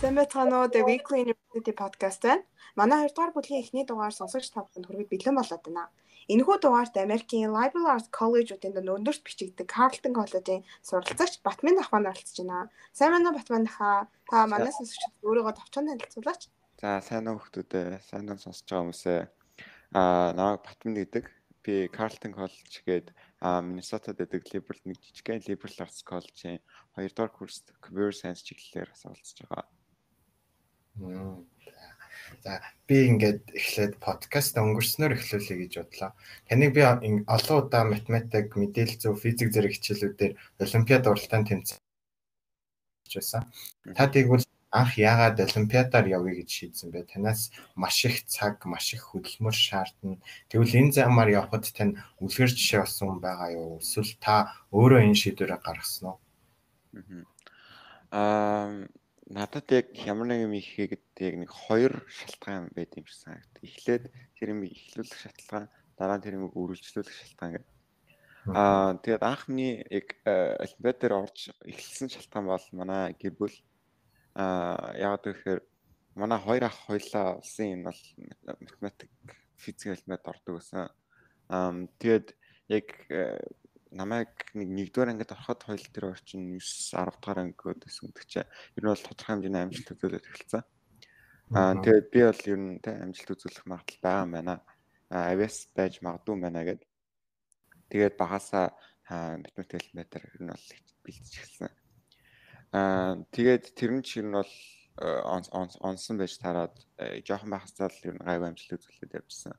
Сайн байцгаана уу? The Weekly University podcast байна. Манай 2 дугаар бүлгийн эхний дугаар сонсогч тавханд хүргэж бэлэн болоод байна. Энэхүү дугаарт Америкийн Liberal Arts College-уудын өндөрлөлт бичигддэг Carleton College-ийн суралцагч Батмин ахмад оролцож байна. Сайн байна уу Батмин ахаа? Та манай сонсогчд өөрийгөө товчхон танилцуулаач. За сайн уу хүмүүстээ сайн уу сонсож байгаа хүмүүсээ намайг Батмин гэдэг. Би Carleton College гээд Minnesota-д байдаг Liberal нэг жижигхэн Liberal Arts College-ийн 2 дугаар курст Computer Science чиглэлээр суралцж байгаа. За би ингээд эхлээд подкаст өнгөрснөөр эхлүүлэе гэж бодлоо. Таныг би олон удаа математик, мэдээлэл зүйн, физик зэрэг хичээлүүдээр олимпиад уралдаанд тэмцсэн. Та тэгвэл анх яагаад олимпиадаар явъя гэж шийдсэн бэ? Танаас маш их цаг, маш их хөдөлмөр шаардна. Тэгвэл энэ замаар явхад тань үлгэр жишээ болсон байгаа юу? Эсвэл та өөрөө энэ шийдвэрээ гаргасан уу? Надад яг ямар нэг юм хийгээд яг нэг 2 шалтгаан байд юм шиг санагд. Эхлээд тэр юм эхлүүлэх шалтгаан, дараа нь тэр юм үргэлжлүүлэх шалтгаан гэдэг. Тэгээд анхны яг олимпиад дээр орж эхэлсэн шалтгаан бол манай гэр бүл яагаад гэхээр манай 2 ах хоёлаа улсын энэ бол математик, физик олимпиад ордог байсан. Тэгээд яг намайг нэг 1-р ангид ороход хоёул тэр орчин 9 10 дахь ангид байсан гэдэг чинь ер нь бол тодорхой хэмжээний амжилт үзүүлээд эхэлсэн. Тэгээд би бол ер нь амжилт үзүүлэх магадлал байгаа юм байна. Авиас байж магадгүй байна гэд. Тэгээд багасаа математик олимпиадаар ер нь бол бэлдэж эхэлсэн. Тэгээд тэр нь ч ер нь бол онсон байж тараад жоохон байхасаа л ер нь гайваа амжилт үзүүлээд явжсан.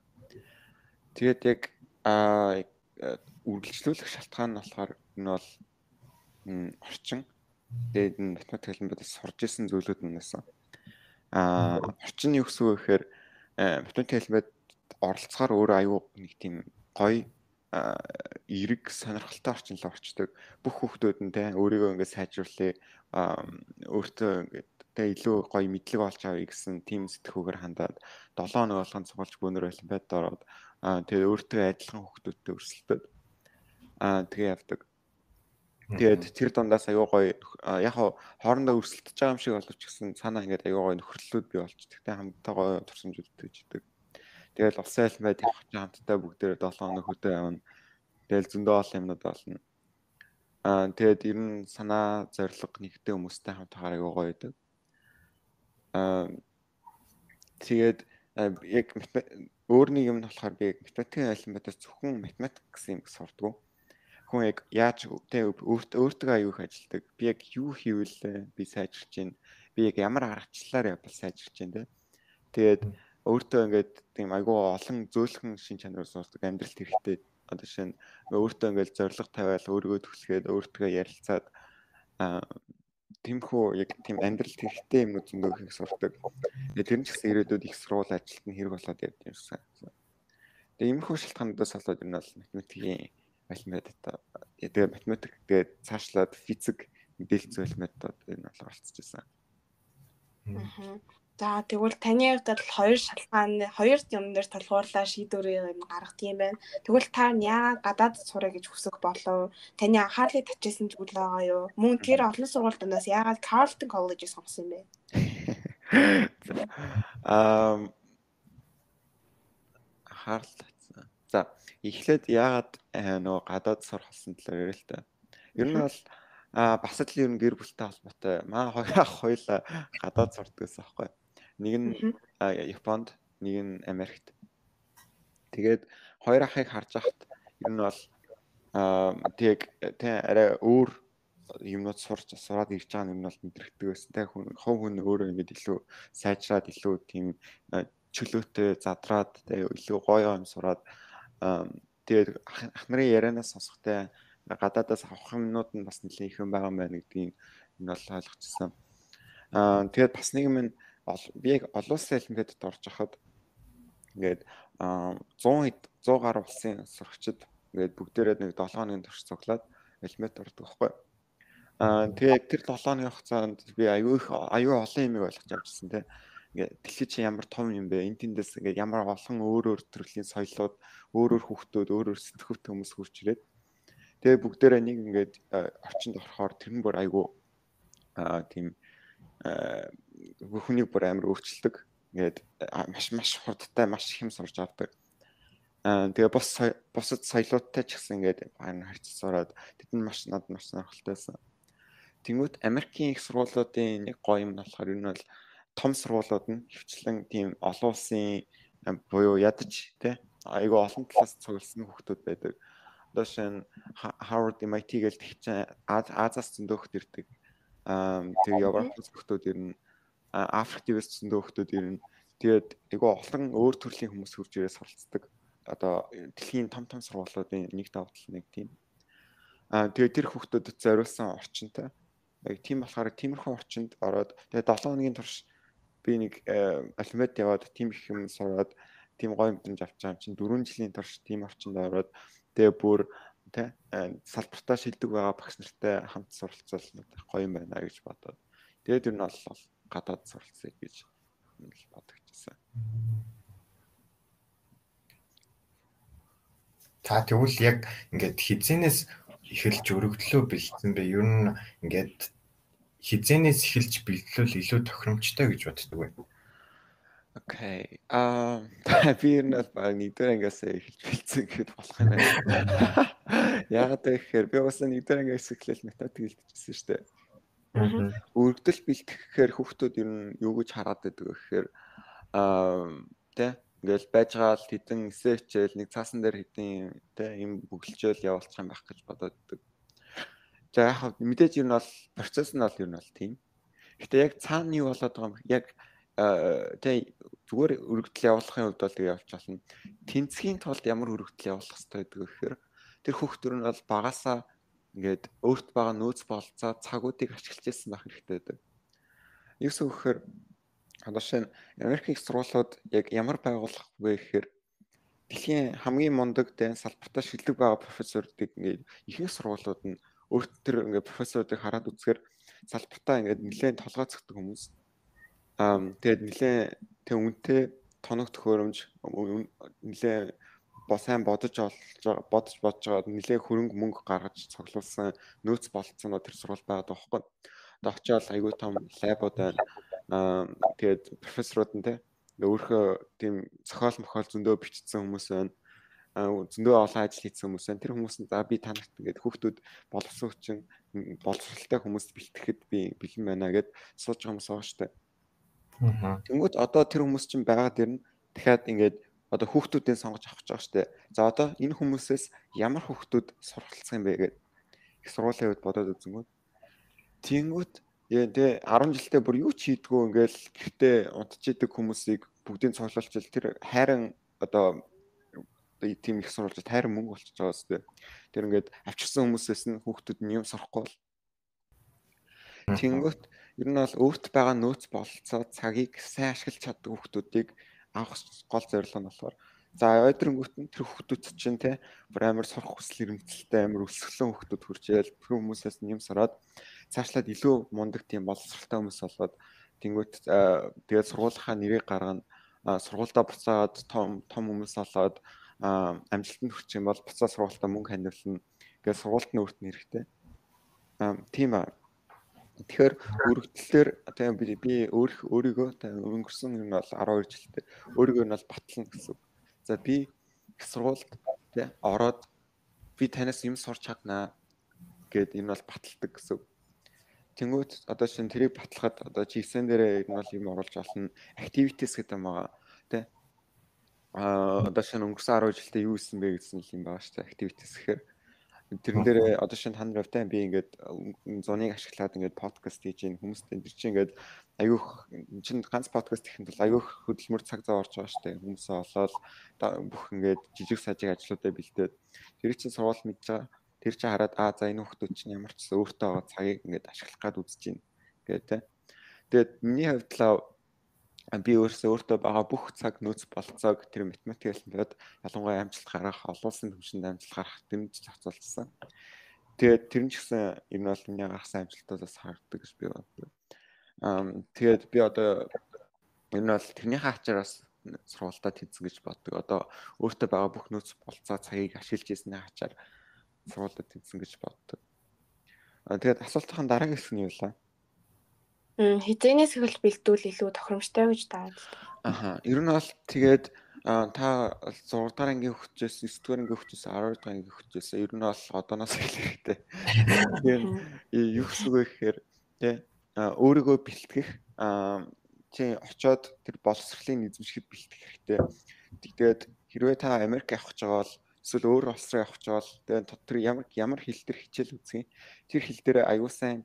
Тэгээд яг үргэлжлүүлэх шалтгаан нь болохоор энэ бол орчин. Тэгээд энэ математик олимпиадаас сурж исэн зүйлүүд нь байсан. Орчин нь юу гэсэн үг вэ гэхээр математик олимпиад оролцохоор өөрөө аюу нэг тийм гоё эрэг сонирхолтой орчин л орчдөг. Бүх хүүхдүүд нь өөрийгөө ингээд сайжруулъя, өөртөө ингээд илүү гоё мэдлэг олж авъя гэсэн тийм сэтгүүгээр хандаад 7 хоног болгонд сургалж бөөнөр олимпиадад ороод тэгээд өөртөө адилхан хүүхдүүдтэй өрсөлдөд тэгээ явдаг. Тэгээд тэр дундаас аюу гоё яг хоорондоо өрсөлдөж байгаа юм шиг боловч гэсэн цаанаа ингээд аюу гоё нөхөрлөлүүд бий болчдөг. Тэгээд хамтдаа гоё турсамжууд өгдөг. Тэгээд улсын олимпиад явах чинь хамтдаа бүгдээ 7 хоног хөдөө явна. Тэгэл зөндөө олон юмнууд болно. Тэгээд ер нь санаа зориг нэгтэй хүмүүстэй хамт хараа аюу гоё байдаг. Тэгээд яг өөр нэг юм нь болохоор би яг математикийн олимпиадаас зөвхөн математик гэсэн юм сурдгоо. Хүн яг яаж өөртөө аюу их ажилдаг. Би яг юу хийвэл би сайжирч байна. Би яг ямар аргачлалаар явбал сайжирч байна. Тэгээд өөртөө ингээд тийм аюу олон зөөлхөн шин чанар сурдаг, амьдралд хэрэгтэй. Одоо жишээ нь өөртөө ингээд зориг тавиал өөрийгөө түлхээд өөртөө ярилцаад тэмхүү яг тийм амьдралд хэрэгтэй юмнууд зөндөө их сурдаг. Тэгээд тэр нь ч гэсэн ирээдүйд их сургууль ажилд нь хэрэг болоод явд юмсан. Тэгээд иймэрхүү шалтгаануудаас болоод энэ бол математикийн олимпиадад тэгээд математик тэгээд цаашлаад физик, мэдээлэл зүйн олимпиадад энэ бол оролцож байсан. За тэгвэл таны хувьд бол 2 шалтгаан, 2 юм дээр толгуурлаа шийдвэрийг гаргах юм байна. Тэгвэл та яагаад гадаад сурах гэж хүсэх болов? Таны анхаарлыг татчихсан зүйл байгаа юу? Мөн тэр олон сургуультаас яагаад Carleton College-ийг сонгосон юм бэ? Анхаарал татсан. За эхлээд яагаад нөгөө гадаад сурах болсон талаар ярил л та. Ер нь бол бас л ер нь гэр бүлтэй холбоотой. Маа 2 ах хоёлаа гадаад сурдаг гэсэн аахгүй. Нэг нь Японд, нэг нь Америкт. Тэгээд 2 ахыг харж ахад ер нь бол тэг арай өөр юмнууд сураад ирж байгаа нь ер нь бол мэдрэгдэг байсан. Тэг хүн өөрөө ингэж илүү сайжраад илүү тийм чөлөөтэй задраад илүү гоё юм сураад тэгээд ах нарын ярианаас сонсохтой гадаадаас авах юмнууд нь бас нэлээд их юм байгаа юм байна гэдгийг энэ бол ойлгочихсон. Тэгээд бас нэг юм би яг олон улсын олимпиадад орж хахад ингээд 100 гаруй улсын сурагчид ингээд бүгдээрээ нэг 7 хоногийн турш цуглаад олимпиад ордог байхгүй. Тэгээд тэр 7 хоногийн хугацаанд би аюу олон юм ойлгож авчихсан те. Ингээд дэлхий чи ямар том юм бэ? Энд тэндээс ингээд ямар олон өөр төрлийн соёлууд, өөр хүүхдүүд, өөр сэтгүүтэй хүмүүс хурж ирээд тэгээ бүгдээрээ нэг ингээд орчинд орохоор тэр нь бүр аюу тийм хүнийг бүр амар өөрчилдөг. Ингээд маш хурдтай маш их юм сурж авдаг. Тэгээ бусад соёлуудтай ч гэсэн ингээд харьцаж сураад тэд нь маш сонирхолтой байсан. Тэнгүүт Америкийн их сургуулиудын нэг гоё юм болохоор ер нь бол том сургуулиуд нь хвчлэн тийм олон улсын буюу ядаж тий айгүй олон талаас цугласан хүүхдүүд байдаг. Одоо шинэ Harvard MIT гээл тэгчин Азаас зөндөө хүүхд ирдэг. Тэгээ Европоос хүүхдүүд ирнэ. Африкээс зөндөө хүүхдүүд ирнэ. Тэгээд айгүй олон өөр төрлийн хүмүүс хурж ирээ суралцдаг. Одоо дэлхийн том сургуулиудын нэг давтал нэг тийм. Тэгээд тэр хүүхдүүдэд зориулсан орчинтай. Яг тийм болохоор тиймэрхүү орчинд ороод тэгээд 7 хоногийн турш би нэг алфавит яваад тийм их юм сураад тийм гоё мэдрэмж авч байгаа юм чинь 4 жилийн турш тийм орчинд ороод тэгээ бүр тэ салбартаа шилдэг байгаа багш нартай хамт суралцвал гоё юм байна гэж бодоод тэгээд ер нь бол гадаад суралцъя гэж бодогдчихсан. Та тэгвэл яг ингээд хизэнээс эхэлж өргөдлөө бэлдсэн бэ? Ер нь ингээд хизэнээс эхэлж бэлдлүүл илүү тохиромжтой гэж боддог байна. Окей. Би ер нь баг нэгдүгээр ангиас эхэлж бэлдсэн гэхэд болох юм байна. Яагаад гэхээр би бас нэгдүгээр ангиас эхлээл математик хэлчихсэн шүү дээ. Өргөдөл бэлтгэх гэхээр хүүхдүүд ер нь юу гэж хараад байдаг гэхээр тэ ингээл байж байгаа л хэдэн эсээ хичээл нэг цаасан дээр хэдэн тэ юм бүгэлжээл явуулчих юм байх гэж бодоод байдаг. За яг мэдээж ер нь бол процесс нь бол ер нь бол тийм. Гэтэ яг цаана юу болоод байгаа юм яг тэ зүгээр өргөдөл явуулахын хувьд бол тэгээ явж болно. Тэнцхийн тулд ямар өргөдөл явуулах хэрэгтэй гэдэг гэхээр тэр хүүхдүүд нь бол багасаа ингээд өөрт байгаа нөөц бололцоо цагуудыг ашиглаж ирсэн байх хэрэгтэй байдаг. Юусэн гэхээр одоо шинэ Америкийн сургуулиуд яг ямар байгуулах вэ гэхээр дэлхийн хамгийн мундаг тэ салбартаа шилдэг байгаа профессоруудыг ингээд ихэнх сургуулиуд нь өөрт тэр ингээд профессоруудыг хараад үзэхээр салбартаа ингээд нэлээд толгойцогддог хүмүүс. Тэгээд нэлээд тэг үнэтэй тоног төхөөрөмж нэлээд сайн бодож байгаа нэлээд хөрөнгө мөнгө гаргаж цуглуулсан нөөц болцооноо тэр сургууль байгаад байгаа байхгүй. Одоо очиод айгүй том лабууд байна. Тэгээд профессорууд нь те өөрхөө тийм зохиол мохиол зөндөө бичсэн хүмүүс байна. Зөндөө олон ажил хийсэн хүмүүс байна. Тэр хүмүүс нь за би танарт ингээд хүүхдүүд боловсралтай хүмүүст бэлтгэхэд би бэлэн байна гэд сууж байгаа хүмүүс байгаа шүү дээ. Тэнгүүд одоо тэр хүмүүс чинь байгаад ирнэ. Дахиад ингээд одоо хүүхдүүдийн сонгож авах гэж байгаа шүү дээ. За одоо энэ хүмүүсээс ямар хүүхдүүд суралцах юм бэ гэдэг их сургуулийн хувьд бодоод үзэнгүүт. Тэнгүүд тэ 10 жилдээ бүр юу ч хийдгүү ингээл гэртээ унтчихийдэг хүмүүсийг бүгдийг цуглуулчихвал тэр хайран одоо тийм их сурвалжид хайран мөнгө болчихж байгаа үстэй. Тэр ингээд авчирсан хүмүүсээс нь хүүхдүүд нь юм сурахгүй бол. Тэнгүүт ер нь бол өөрт байгаа нөөц бололцоо цагийг сайн ашиглаж чаддаг хүүхдүүдийг авах гол зорилго нь болохоор за ойдрангуут нь тэр хүүхдүүд чинь те бүр амар сурах хүсэл эрмэлзэлтэй амар өсгөлөн хүүхдүүд хүрчээл тэр хүмүүсээс нь юм сураад цаашлаад илүү мундаг тийм боловсралтай хүмүүс болоод тэнгуут тэгээд сургуулийнхаа нэрийг гаргана сургуультай буцаад том хүмүүс болоод амжилтанд хүрэх юм бол буцаад сургуультаа мөнгө ханиулна тэгээд сургуульд нь өөрт нь хэрэгтэй тийм аа. Тэгэхээр өргөдлөөр одоо би өөрийгөө өнгөрсөн юм бол 12 жилтэй өөрийгөө нь бол батлана гэсэн. За би их сургуульд тэ ороод би танаас юм сурч чаднаа гэд энэ бол баталдаг гэсэн. Тэнгүүт одоо шинэ тэрийг батлахад одоо GSN дээрээ энэ бол юм оруулж олно. Activities гэдэг юм байгаа тэ. Одоо шинэ өнгөрсөн 10 жилдээ юу хийсэн бэ гэсэн юм байгаа шүү дээ. Activities гэхээр тэрэн дээр одоо шинэ тань равтай би ингээд зуныг ашиглаад ингээд подкаст хийж ийн хүмүүст энэ чинь ингээд аюух чинь ганц подкаст хийхэд бол аюух хөдөлмөр цаг зав орж байгаа шүү дээ. Хүмүүсээ олоод бүх ингээд жижиг сажиг ажлуудаа бэлдээд тэр чинь сурвал мэдж байгаа. Тэр чинь хараад за энэ хүмүүс чинь ямар ч өөртөө байгаа цагийг ингээд ашиглах гад үзэж байна гэдэг. Тэгээд миний хувьд л би өөртөө байгаа бүх цаг нөөц болцоог тэр математик хэлбэрт ялангуяа амжилт гаргах, олон улсын түвшинд амжилт гаргах дэмж зохицуулсан. Тэгээд тэр нь ч гэсэн энэ бол миний гаргасан амжилтуудаас харагддаг гэж би боддог. Тэгээд би одоо энэ бол тэрнийхээ ачаараас сургуультаа тэнцэн гэж боддог. Одоо өөртөө байгаа бүх нөөц болцоо цагийг ашиглаж ирсний ачаар сургуультаа тэнцэн гэж боддог. Тэгээд асуултын дараагийн хэсэг нь юу вэ? Хизээнээс эхэлж бэлдүүл илүү тохиромжтой гэж таад. Аха. Ер нь бол тэгээд та 6 дахь ангийн хөгжөөс 9 дахь ангийн хөгжөөс 12 дахь ангийн хөгжөөс ер нь бол одооноос эхлэх хэрэгтэй. Тэгээд юу гэсэн үг вэ гэхээр тий өөрийгөө бэлтгэх чи очоод тэр боловсролын эзэмшгэд бэлтгэх хэрэгтэй. Тэгээд хэрвээ та Америк явах гэж байгаа бол эсвэл өөр улс руу явах гэж байгаа бол тэгээд тэр ямар хэл дээр хичээл үзье. Тэр хэл дээр аюул сайн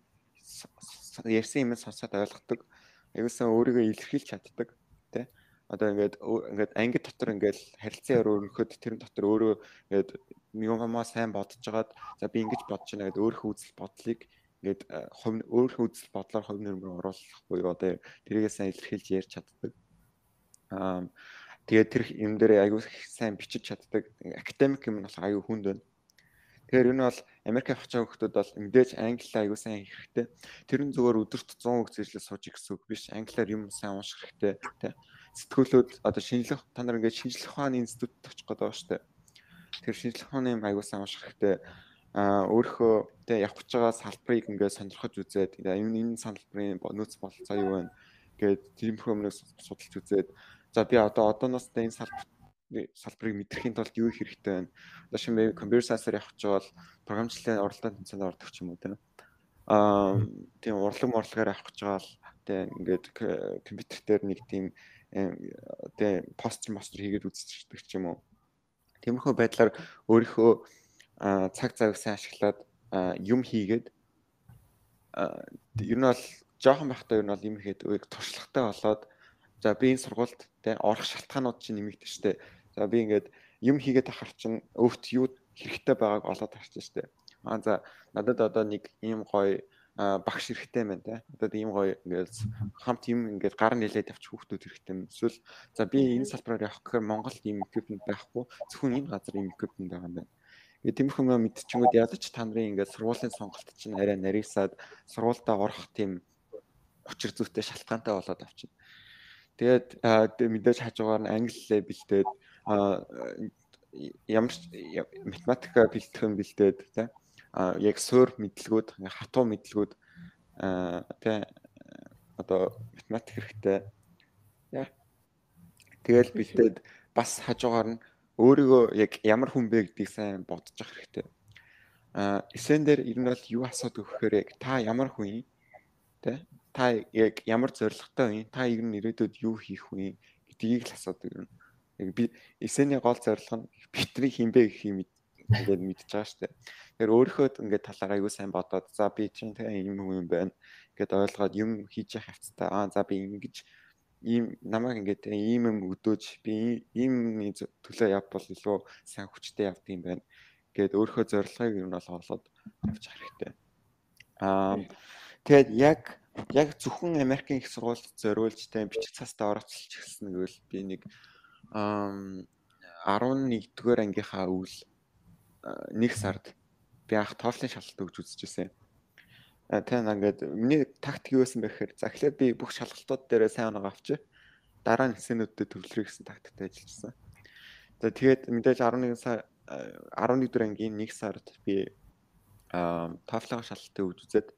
ярьсан юм сонсоод ойлгодог. Аюул сайн өөрийгөө илэрхийлж чаддаг. Тэ одоо ингээд анги дотор ингээд харилцан өрөөхөд тэр дотор өөрөө ингээд юмаа сайн бодож жагаад за би ингэж бодож байна гэдэг өөрийнхөө үзэл бодлыг ингээд өөрийнхөө үзэл бодлоор хувь нэмрээр оруулах буюу одоо тэрийгээ сайн илэрхийлж ярьж чаддаг. Тэгээд тэр юм дээр аюу сайн бичиж чаддаг. Академик юм бол аюу хүнд байна. Тэгэхээр энэ бол Америк явах гэж байгаа хүмүүс бол мэдээж англиар аюу сайн хэрэгтэй. Тэр нь зүгээр өдөрт 100 үг зэрлээ сууж гэсэн үг биш. Англиар юм сайн унших хэрэгтэй. Тэ. Сэтгүүлүүд одоо шинжлэх та нар ингээд шинжлэх ухааны институтэд очих гээд байгаа шүү дээ. Тэр шинжлэх ухааны юм аюу сайн унших хэрэгтэй. Өөрийнхөө тэ явах гэж байгаа салбарыг ингээд сонирхож үзээд энэ салбарын нөөц бололцоо юу вэ гэдэг тиймэрхүү юмнаас судалж үзээд за би одооноос энэ салбарыг мэдрэхийн тулд юу хэрэгтэй байна. Одоо шинэ компьютер сайенсаар явах гэж бол програмчлалын уралдаан тэмцээнд ордог ч юм уу тийм. Тийм урлагаар авах гэж байгаа л тийм ингээд компьютер дээр нэг тийм тийм постэр хийгээд үзчихдэг ч юм уу. Тиймэрхүү байдлаар өөрийнхөө цаг завыг сайн ашиглаад юм хийгээд ер нь бол жоохон байхдаа ер нь бол юм хийгээд туршлагатай болоод за би энэ сургуульд тийм орох шалтгаанууд чинь нэмэгдэж штэ. За би ингээд юм хийгээд ахаар чинь өөрт юу хэрэгтэй байгааг олоод харж штэ. За надад одоо нэг ийм гоё багш хэрэгтэй байна те. Одоо ийм гоё ингээд хамт юм ингээд гар нэлээд авчих хүүхдүүд хэрэгтэй юм. Эсвэл за би энэ салбараар явах гэхээр Монголд ийм equipment байхгүй. Зөвхөн энэ газар ийм equipment байгаа юм байна. Тэгээд тиймэрхүү юм мэдчихэнгүүд ядаж та нарын ингээд сургуулийн сонголт чинь арай нарийсаад сургуультаа орох тийм учир зүйтэй шалтгаантай болоод авчина. Тэгээд мэдээж хажуугаар нь англи бэлдээд ямар математика бэлтгэх юм бэлдээд тий яг суур мэдлгүүд хатуу мэдлгүүд тий одоо математик хэрэгтэй яа тэгэл бэлдээд бас хажуугаар нь өөрийгөө яг ямар хүн бэ гэдгийг сайн бодож авах хэрэгтэй. Эсэн дээр ер нь бол юу асуудаг вэхээр яг та ямар хүн юм тий та яг ямар зорилготой вэ? Та ер нь ирээдүйд юу хийх вэ гэдгийг л асуудаг юм. Яг би эсэний гол зорилго нь битрий хинбэ гэх юм ингээд мэдчихэж байгаа шүү дээ. Тэгэхээр өөрийнхөө ингээд талаараа аюу сайн бодоод за би чинь ийм хүн юм байна гэдээ ойлгоод юм хийж явах хэвцээ. За би ингэж ийм намайг ингээд ийм юм өдөөж би ийм төлөө явбал илүү сайн хүчтэй явдаг юм байна гэд өөрийнхөө зорилгыг ер нь бол олоод авч хэрэгтэй. Тэгээд яг зөвхөн Америкийн их сургуульд зориулж тань бичих цаастаа орооцолж эхэлсэн гэвэл би нэг 11-р ангийнхаа өвөл 1 сард би анх TOEFL-ын шалгалт өгч үзчихсэн. Тань ингээд миний тактик юу байсан бэ гэхээр за эхлээд би бүх шалгалтууд дээр сайн оноо авчи. Дараа нь эсэнүүдэд төвлөрөх гэсэн тактиктэй ажиллажсэн. Тэгээд мэдээж 11-р ангийн 1 сард би TOEFL-ын шалгалтыг өгч үзээд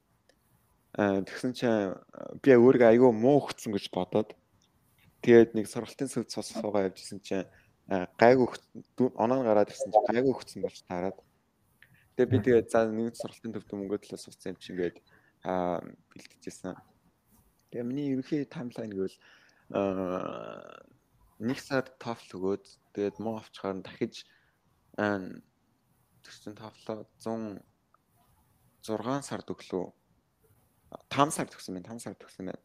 тэгсэн чинь би өөрийгөө аюу муу өгцөн гэж бодоод тэгээд нэг сургалтын сүлд суугаа явжсэн чинь гайгүй оноо гараад ирсэн чинь гайгүй өгцөн болж таарад. Тэгээд би тэгээд за нэг сургалтын төвд мөнгө төлөө сууцсан юм чинь ингээд бэлтгэжсэн. Тэгээд миний ерөнхий таймлайн гэвэл 1 сард TOEFL өгөөд тэгээд муу авчихаар дахиж тэгсэн TOEFL 106 сард өглөө 5 сард төгсөн байна.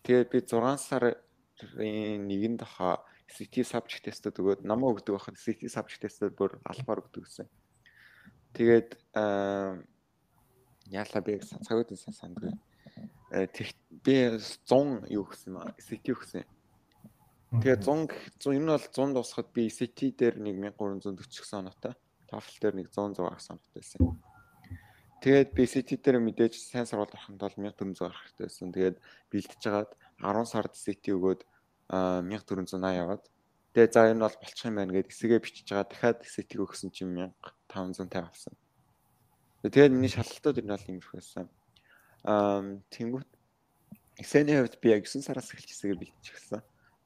Тэгээд би 6 сарын 1-нд хаа SAT subject test-д өгөөд намаа өгдөг байхад SAT subject test-д бүр албаар өгдөг гэсэн. Тэгээд яалаа би цагууд нь сандгүй. Би 100 юу гэсэн юм SAT өгсөн. Тэгээд 100 энэ бол 100 дуусахад би SAT дээр 1340 гэсэн оноотой, TOEFL дээр 106 гэсэн оноотой байсан. Тэгээд BCT дээр мэдээж сайн сургууль орохын тулд 1400 гарах хэрэгтэй байсан. Тэгээд бэлтэж жагаад 10 сард CT өгөөд 1480 яваад тэгээд за энэ бол болчих юм байна гэдээ эсэгээ бичиж жагаад дахиад CT өгсөн чинь 1550 авсан. Тэгээд миний шалгалтууд энэ бол иймэрхүү байсан. Тэнгүүт Эксений хувьд би яг 9 сараас эхэлж хэсэгээ бэлтчихсэн.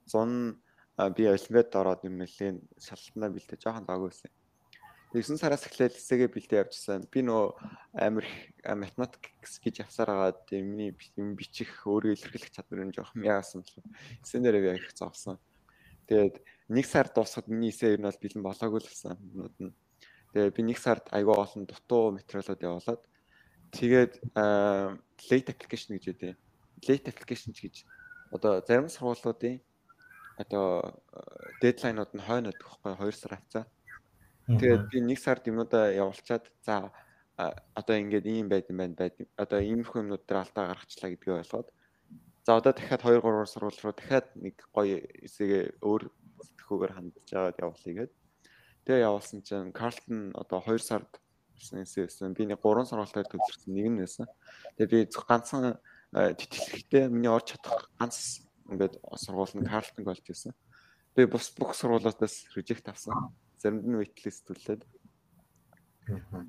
100 би олимпиад ороод юм нэлийн шалгалтнаа бэлтэж жоохон даагүй байсан. 9 сараас эхлээд хэсэгээ бэлтээ явчихсан. Би нөө амар математикс гэж явсаар агаад миний юм бичих өөрөө илэрхийлэх чадвар нь жоохон яасан бол эсэнээрээ яг их зовсон. Тэгээд 1 сар дуусахад миний эсээ ер нь бол бэлэн болоогүй л байсан юмуд нь. Тэгээд би 1 сард аягүй олон дутуу материалууд явуулаад тэгээд late application гэж үүтэй. Late application гэж одоо зарим сургуулиудын одоо дедлайнууд нь хойно өгөх байхгүй 2 сар хавцаа. Тэгээд би 1 сард юмудаа явуулчаад за одоо ингээд ийм байд юм байна. Одоо иймэрхүү юмнууд дээр алдаа гаргачлаа гэдгээ ойлгоод за одоо дахиад 2 3 сургууль руу дахиад нэг гоё эсэгээ өөр төхөөгөр хандж аваад явуулъя гэд. Тэгээ явуулсан чинь Carlton одоо 2 сард эсэсэн. Би нэг 3 сургуультаар төвлөрсөн нэг нь байсан. Тэгээ би ганцхан тэтгэлэгтэй миний орж чадах ганц ингээд сургууль нь Carlton болж байсан. Би бүх сургуулиудаас reject авсан. Заримд нь waitlist төлөөд.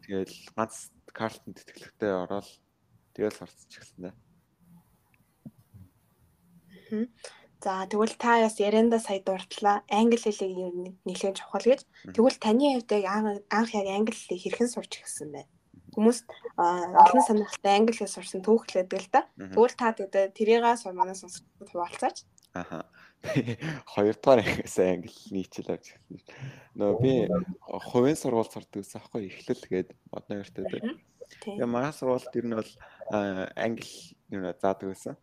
Тэгээд ганц Carlton тэтгэлэгтэй ороод тэгэл сурцчихсан. За тэгвэл та бас ярианда сая дурдлаа. Англи хэлийг ер нь нэлээд чухал гэж. Тэгвэл таны хувьд анх яг англи хэлийг хэрхэн сурч ирсэн бэ? Хүмүүс олон сонирхолтой англи хэл сурсан түүхлээд л да. Тэгвэл та тэрийгээ манай сонсогчдод хуваалцаач. Аха. 2 дугаар ангиас англи нийцэл авч ирсэн. Нөө би хувийн сургууль сурдаг гэсэн аахгүй эхлэл гээд модны өртөө дээ. Тэгээ манай сургуульд ер нь бол англи юу заадаг байсан.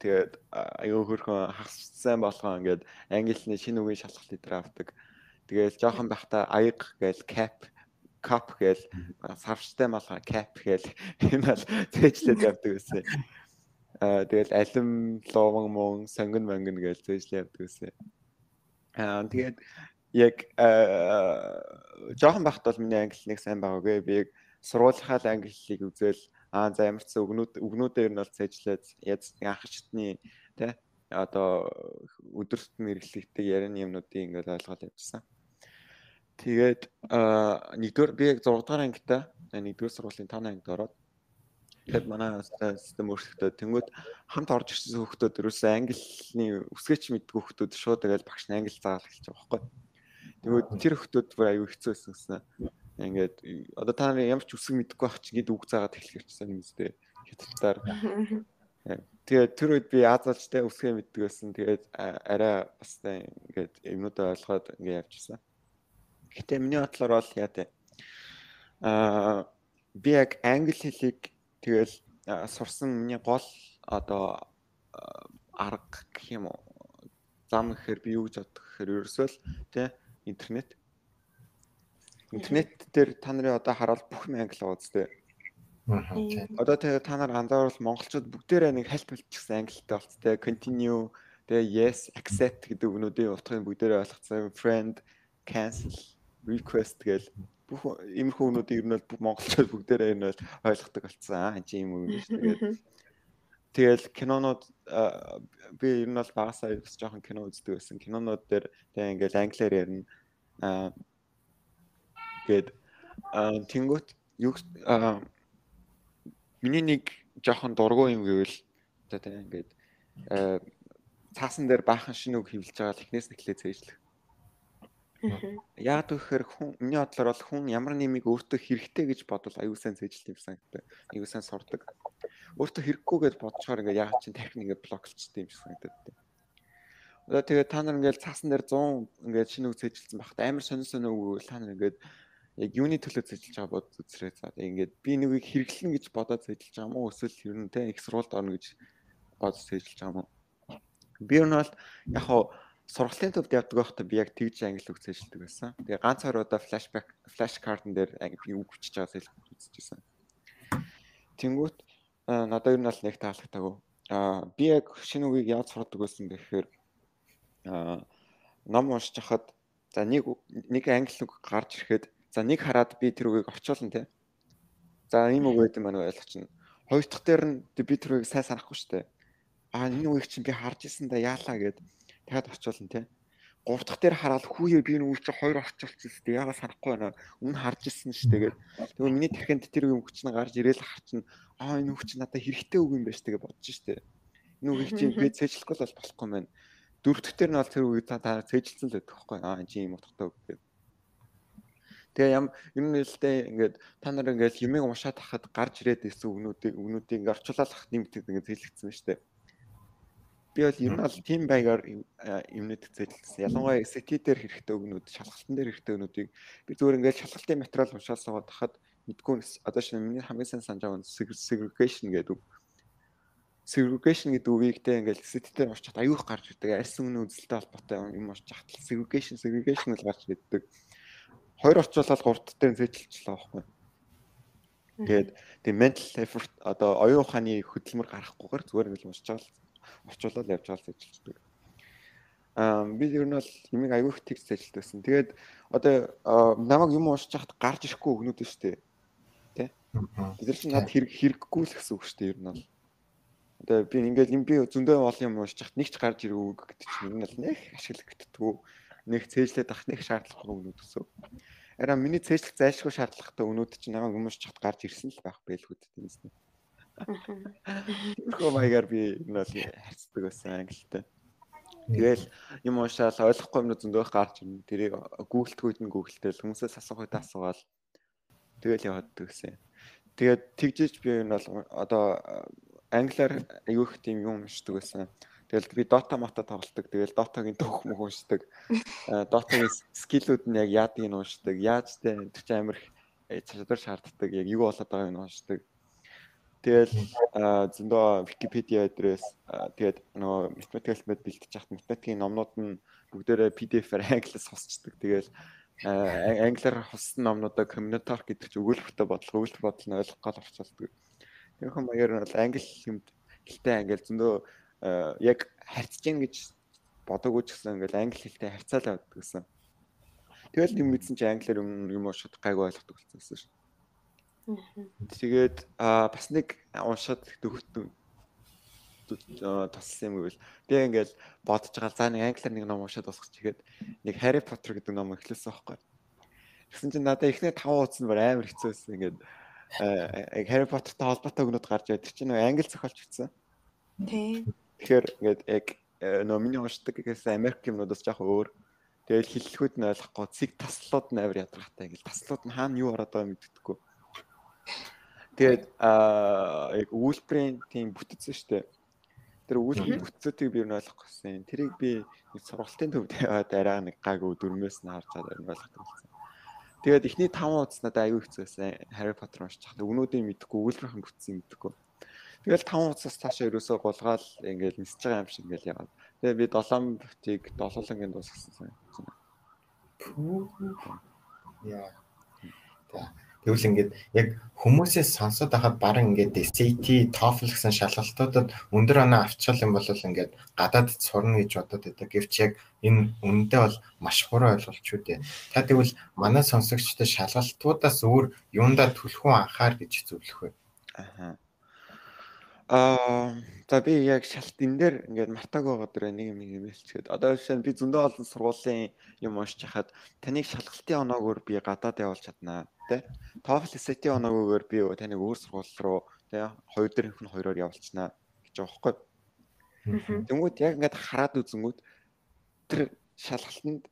Тэгээд аюу хөрхөн хагас сайн болгоо ингээд англиний шинэ үгийн шалгалт дээр авдаг. Тэгээд жоохон байхдаа аяг гээл cap гээл савчтай малгай cap гээл энэ бол зээжлээд явдаг байсан. Тэгээд алим ловон мон сонгон манган гээл зээжлээд явдаг байсан. Тэгээд яг жоохон байхад бол миний англи нэг сайн байгаагүй. Би яг сургуулийнхаа англи хэлийг үзэл за ямар ч үгнүүдээр нь бол цээжлээд анх шатны тий одоо өдөр тутмын хэрэглэгддэг ярины юмнуудыг ингээд ойлгоод явчихсан. Тэгээд нэгдүгээр би яг 6 дугаар ангитай 1-р сургуулийн 5 ангид ороод тэгээд манай систем өөрчлөлтөө тэнгууд хамт орж ирсэн хүүхдүүд ерөөсөө английн үсгээч мэддэг хүүхдүүд шууд тэгэл багш нь англи заавал эхэлж байгаа байхгүй. Тэгвэл тэр хүүхдүүд бүр аюу хэцүү байсан. Ингээд одоо та нар ямар ч үсэг мэдэхгүй байх чинь гээд үг заагаад эхлэх гэсэн юм үстэй хятадтаар. Тэгээд тэр үед би Азалжтай үсгээ мэддэг байсан. Тэгээд арай бас ингээд юмнуудаа ойлгоод ингээд явчихсан. Гэтэ миний бодлоор бол яа тэ би яг англи хэлийг тэгэл сурсан миний гол одоо арга гэх юм уу зам гэхээр би юу гэж боддог гэхээр ерөөсөө л тий интернет дээр та нарын одоо хараад бүх юм англи байгаа үстэй. Одоо тэгээ та нар анзаарвал монголчууд бүгдээрээ нэг хальт болчихсон англитай болцтой. Continue, тэгээ yes, accept гэдэг үгнүүдийн утгыг бүгдээрээ ойлгоцсон. Friend, cancel, request гэл бүх иймэрхүү үгнүүдийг ер нь бол монголчууд бүгдээрээ ер нь бол ойлгодог болцсон. Энд чинь юм үг шүү дээ. Тэгэл кинонууд би ер нь бол багасаа бас жоохон кино үздэг байсан. Кинонууд дээр тэгээ ингээл англиар ярина. Гэт тэнгуут юу миний нэг жоохон дургуй юм гэвэл одоо тийм ингээд цаасан дээр баахан шинэ үг хэвлэж байгаа л эхнээс нь эхлээ зээжлэх. Яагаад гэхээр миний бодлоор бол хүн ямар нэмийг өөртөө хэрэгтэй гэж бодвол аюу сайн зээжлэх юм санагдав. Аюу сайн сурдаг. Өөртөө хэрэггүй гэж бодчоор ингээд яагаад чинь тарих нэгэ блоклчтэй юм шиг санагдав. Одоо тэгээд та нар ингээд цаасан дээр 100 ингээд шинэ үг зээжилсэн багт амар сонин үг та нар ингээд яг юуны төлөө зэжилж байгаа бод үзрээ за ингээд би нүгийг хэрэглэн гэж бодоод зэжилж байгаа мó эсвэл ер нь те их сургуульд орно гэж бодож зэжилж байгаа мó би ер нь бол яг хоо сургалтын төвд явдаг байхдаа би яг тэгж англи үг зэжилдэг байсан. Тэгээ ганц хоёр удаа флаш картн дээр би үг хүчиж байгаа зэжилж үзчихсэн. Тэнгүүт надад ер нь бол нэг таалагдаагүй. Би яг шинэ үгийг яаж сурдаг байсан гэхээр ном уншиж хахад за нэг англи үг гарч ирэхэд за нэг хараад би тэр үгийг орчуулна те. За ийм үг байт юм байна ойлгочихно. Хоёр дахь дээр нь би тэр үгийг сайн санахгүй штэ. Энэ үгийг чинь би харж исэн да яалаа гэд дахиад орчуулна те. Гурав дахь дээр хараад хүүе би энэ үгийг чинь хоёр орчуулчихсан штэ. Яагаад санахгүй байна. Өмнө харж исэн штэ гэд. Тэгвэл миний тархинд тэр үг чинь гарч ирээл харчихна. Энэ үг чинь надад хэрэгтэй үг юм байна штэ гэж бодож штэ. Нүг их чинь би цээжлэхгүй бол болохгүй мэн. Дөрөвдөг дээр нь бол тэр үед та цээжилсэн л байдаг байхгүй. Чи юм утгатай үг гэдэг. Тэгээ ер нь л дээ ингээд та нар ингээд юмыг уншаад хахад гарч ирээд ирсэн үгнүүдийг ингээд орчуулах нэмэгдээд ингээд цээжлэгдсэн ба штэ. Би бол ер нь бол тийм байгаар юмнууд цээжлсэн. Ялангуяа SAT дээр хэрэгтэй үгнүүд, шалгалтын дээр хэрэгтэй үгнүүдийг би зүгээр ингээд шалгалтын материал уншаад суугаад хахад мэдгүй одоо шинэ миний хамгийн сайн санаж байгаа нь segregation гэдэг үг. Segregation гэдэг үгийг тэ ингээд SAT дээр уншаад аюух гарч ирдэг. Арьс өмнө үзэлтэй холбоотой юм уншиж хахад segregation л гарч ирдэг. Хоёр орчуулаад гуравт дээр цээжилчлээ байхгүй. Тэгээд тийм mental effort одоо оюун ухааны хөдөлмөр гарахгүйгээр зүгээр нэг уншиж байгаа орчуулаад явж байгаа цээжилдэг. Би ер нь бол юмыг аюух текст цээжилдсэн. Тэгээд одоо намайг юм уншиж хахад гарч ирэхгүй өгнүүд шүү дээ. Тэ? Бид нар чинь над хэрэггүй л гэсэн үг шүү дээ ер нь бол. Одоо би ингээд би зөндөө олон юм уншиж хахад нэг ч гарч ирэх үг гэдэг чинь ер нь бол нэг ашигладаггүй. Нэг цээжлээд авах нэг шаардлагагүй өгнүүд өсөв. Араа миний цээжлэх зайлшгүй шаардлагатай өгнүүд чинь намайг өмөрч чад гарч ирсэн л байх байлгүй тиймээс нэ. Хөө маягаар би энэ бол харцдаг байсан англитай. Тэгэл юм уншаал ойлгохгүй юмнууд зөндөө гарч ирнэ. Тэрийг гуглдгүйд нь гуглдэл хүмүүсээс асуухад асуугаал тэгэл яваад гэсэн. Тэгээд тэгжиж би энэ бол одоо англиар аюух тийм юм уншдаг байсан. Тэгэл би Dota мата тоглолдог. Тэгэл Dota-гийн төвх мөх уншдаг. Dota-гийн скиллүүд нь яг яадгийг нь уншдаг. Яаж тэ тэр чинь амар их чадвар шаарддаг. Яг юу болоод байгааг нь уншдаг. Тэгэл зөндөө Wikipedia адрес тэгээд нөгөө математикал мэд бэлтэж хат математикийн номнууд нь бүгдээрээ PDF-аар англиар хусчдаг. Тэгэл англиар хуссан номнуудаа комментар гэдэг чинь өгүүлбэртэй бодлого нь ойлгох гал орчуулдаг. Тэрхэн маягаар нь бол англи юмд хэлтэй англи зөндөө яг харьцаж гин гэж бодоогүй ч гэсэн ингээл англи хэлтэй харьцаал явдаг гэсэн. Тэгэл юм мэдсэн чи англиар юм уншаад гайгүй ойлгодог болсон шүү. Тэгээд бас нэг уншаад туссан юм гэвэл би ингээл бодож байгаа за нэг англиар нэг ном уншаад босгоч игээд нэг Harry Potter гэдэг ном эхлүүлсэн байхгүй. Тэгсэн чинь надад эхний 5 хуудас нь амар хэцүү байсан. Ингээд Harry Potter-тай холбоотой өгнөд гарч ирээд тэр чинь нэг англи зохиолч бичсэн. Тийм. Тэгэхээр ингээд яг номины уншдаг гэсэн Америк юмнуудаас жоох өөр. Тэгэл хэллэгүүд нь ойлгохгүй цэг таслууд нь амар ядаргатай. Ингээл таслууд нь хаана юу ороод байгааг мэддэггүй. Тэгээд яг үйлбэрийн тийм бүтцэн штэ. Тэр үйлбэрийн бүтцүүдийг би юу ойлгохгүйсэн. Тэрийг би нэг сургалтын төвд яваад арай нэг гайгүй дөрмөөс нь харж байгаа юм ойлгодог болсон. Тэгээд эхний 5 хуудас надад аюу хэцүү байсан. Harry Potter уншиж хахад өгнүүдийг мэдгүй, үйлбэрийн бүтцийг мэдгүй. Тэгэл 5 хуудасаас цаашаа ерөөсөө голгаал ингээл нисэж байгаа юм шиг ингээл яваад. Тэгээ би 7 бүтийг 7-ын дуусгасан. Яа. Тэгвэл ингээд яг хүмүүсээс сонсоод байхад баран ингээд SAT, TOEFL гэсэн шалгалтуудад өндөр оноо авчихвал юм бол ингээд гадаадд сурна гэж бодоод байдаг. Гэвч яг энэ үнэндээ бол маш буруу ойлголч үү дээ. Та тэгвэл манай сонсогчдод шалгалтуудаас өөр юундаа түлхүүн анхаар гэж зөвлөх вэ? За би яг шалт энэ дээр ингээд мартааг байгаа дээр нэг юм хэлчихэд одоо жишээ нь би зөндөө олон сургуулийн юм уншиж хахад таныг шалгалтын оноогоор би гадаад явуулж чаднаа тий. TOEFL SAT оноогоор би таныг өөр сургууль руу тий 2 дээрх нь 2-оор явуулчихнаа гэж байгаа байхгүй. Тэнгүүд яг ингээд хараад үзэнгүүд тэр шалгалтанд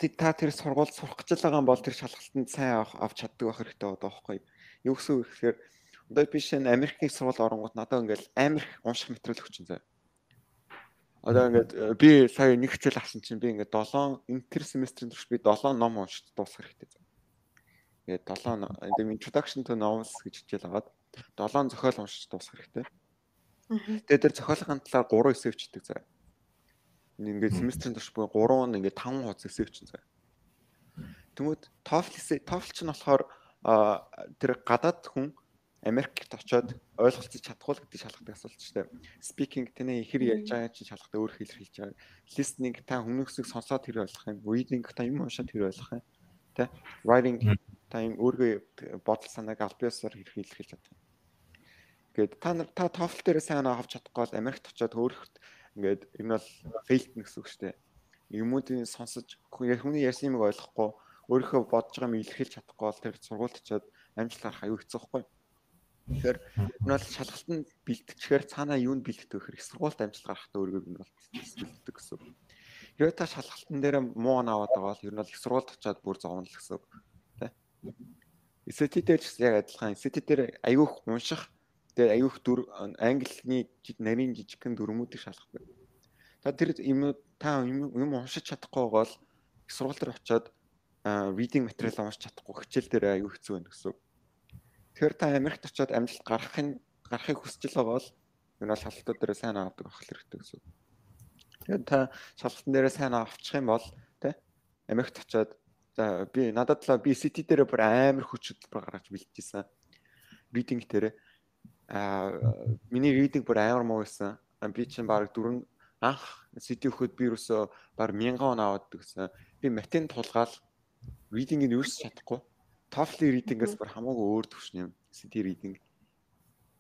тий та тэр сургуульд сурах гэж байгаа юм бол тэр шалгалтанд сайн авч чаддаг байх хэрэгтэй байгаа байхгүй. Юу гэсэн үг гэхээр одоо би шинэ Америкийн сургууль оронгууд надад ингээл амар их унших материал өгч зөө. Одоо ингээд би сая нэг хичээл авсан чинь би ингээд 7 энэ тэр семестрийн турш би 7 ном уншиж дуусгах хэрэгтэй. Тэгээд 7 introduction to novels гэж хичээл аваад 7 зохиол уншиж дуусгах хэрэгтэй. Тэгээд тэр зохиолын талаар 3 эссе өчтдөг зөө. Ингээд семестрийн турш би 3 нь ингээд 5 хуудас эссе өчсөн зөө. Тэгмүүд TOEFL чинь болохоор тэр гадаад хүн Америкт очиод ойлголцож чадахгүй л гэдэг шалгатай асуулт шүү дээ. Speaking тэний ихэр ярьж байгаа чинь шалгатай өөр хэлээр хэлж байгаа. Listening та хүмүүстийг сонсоод тэр ойлгох юм. Reading та юм уншаад тэр ойлгох юм. Тэ? Writing та юм өөргөө бодол санааг аль биесээр хэлж чадах юм. Ингээд та TOEFL дээр сайн авч чадахгүй бол Америкт очиод өөрөөхт ингээд энэ бол failed гэсэн үг шүү дээ. Юмуудыг сонсож хүний ярьсан юмыг ойлгохгүй өөрийнхөө бодож байгаа юм илэрхийлж чадахгүй бол тэр сургуульд очиод амжилт гарах аюу хэцүү байхгүй. Тэгэхээр энэ бол шалгалтанд бэлтчихээр цаанаа юунд бэлтгэх вэ гэхээр их сургуульд амжилт гаргахтаа өөрийгөө энэ бол бэлтдэг гэсэн. Хэрвээ та шалгалтын дээр муу наваад байгаа бол ер нь бол их сургуульд очиад бүр зовно л гэсэн. Тэ. SAT дээр ч яг адилхан. SAT дээр аюух унших, дээр аюух английн нарийн жижигхэн дүрмүүдийг шалгадаг. Та тэр юм уншиж чадахгүй бол их сургууль дээр очиод reading материал уншиж чадахгүй хичээл дээр аюу хэцүү байна гэсэн. Тэгэхээр та Америкт очиод амжилт гарахыг хүсэж байгаа бол энэ бол шалгалтууд дээр сайн авдаг авах хэрэгтэй гэсэн. Тэгээд та шалгалтын дээр сайн авчих юм бол тэ Америкт очиод за надад л SAT дээр бүр амар хүч хөдөлбөр гаргаж бэлтжижсэн. Reading дээр миний reading бүр амар муу байсан. Би чинь баг анх SAT өгөхөд би юусоо баг 1000 он аваад гэсэн. Би математик тулгаал reading-ийг юу ч чадахгүй. TOEFL reading-ээс бүр хамаагүй өөр төвшин юм. SAT reading.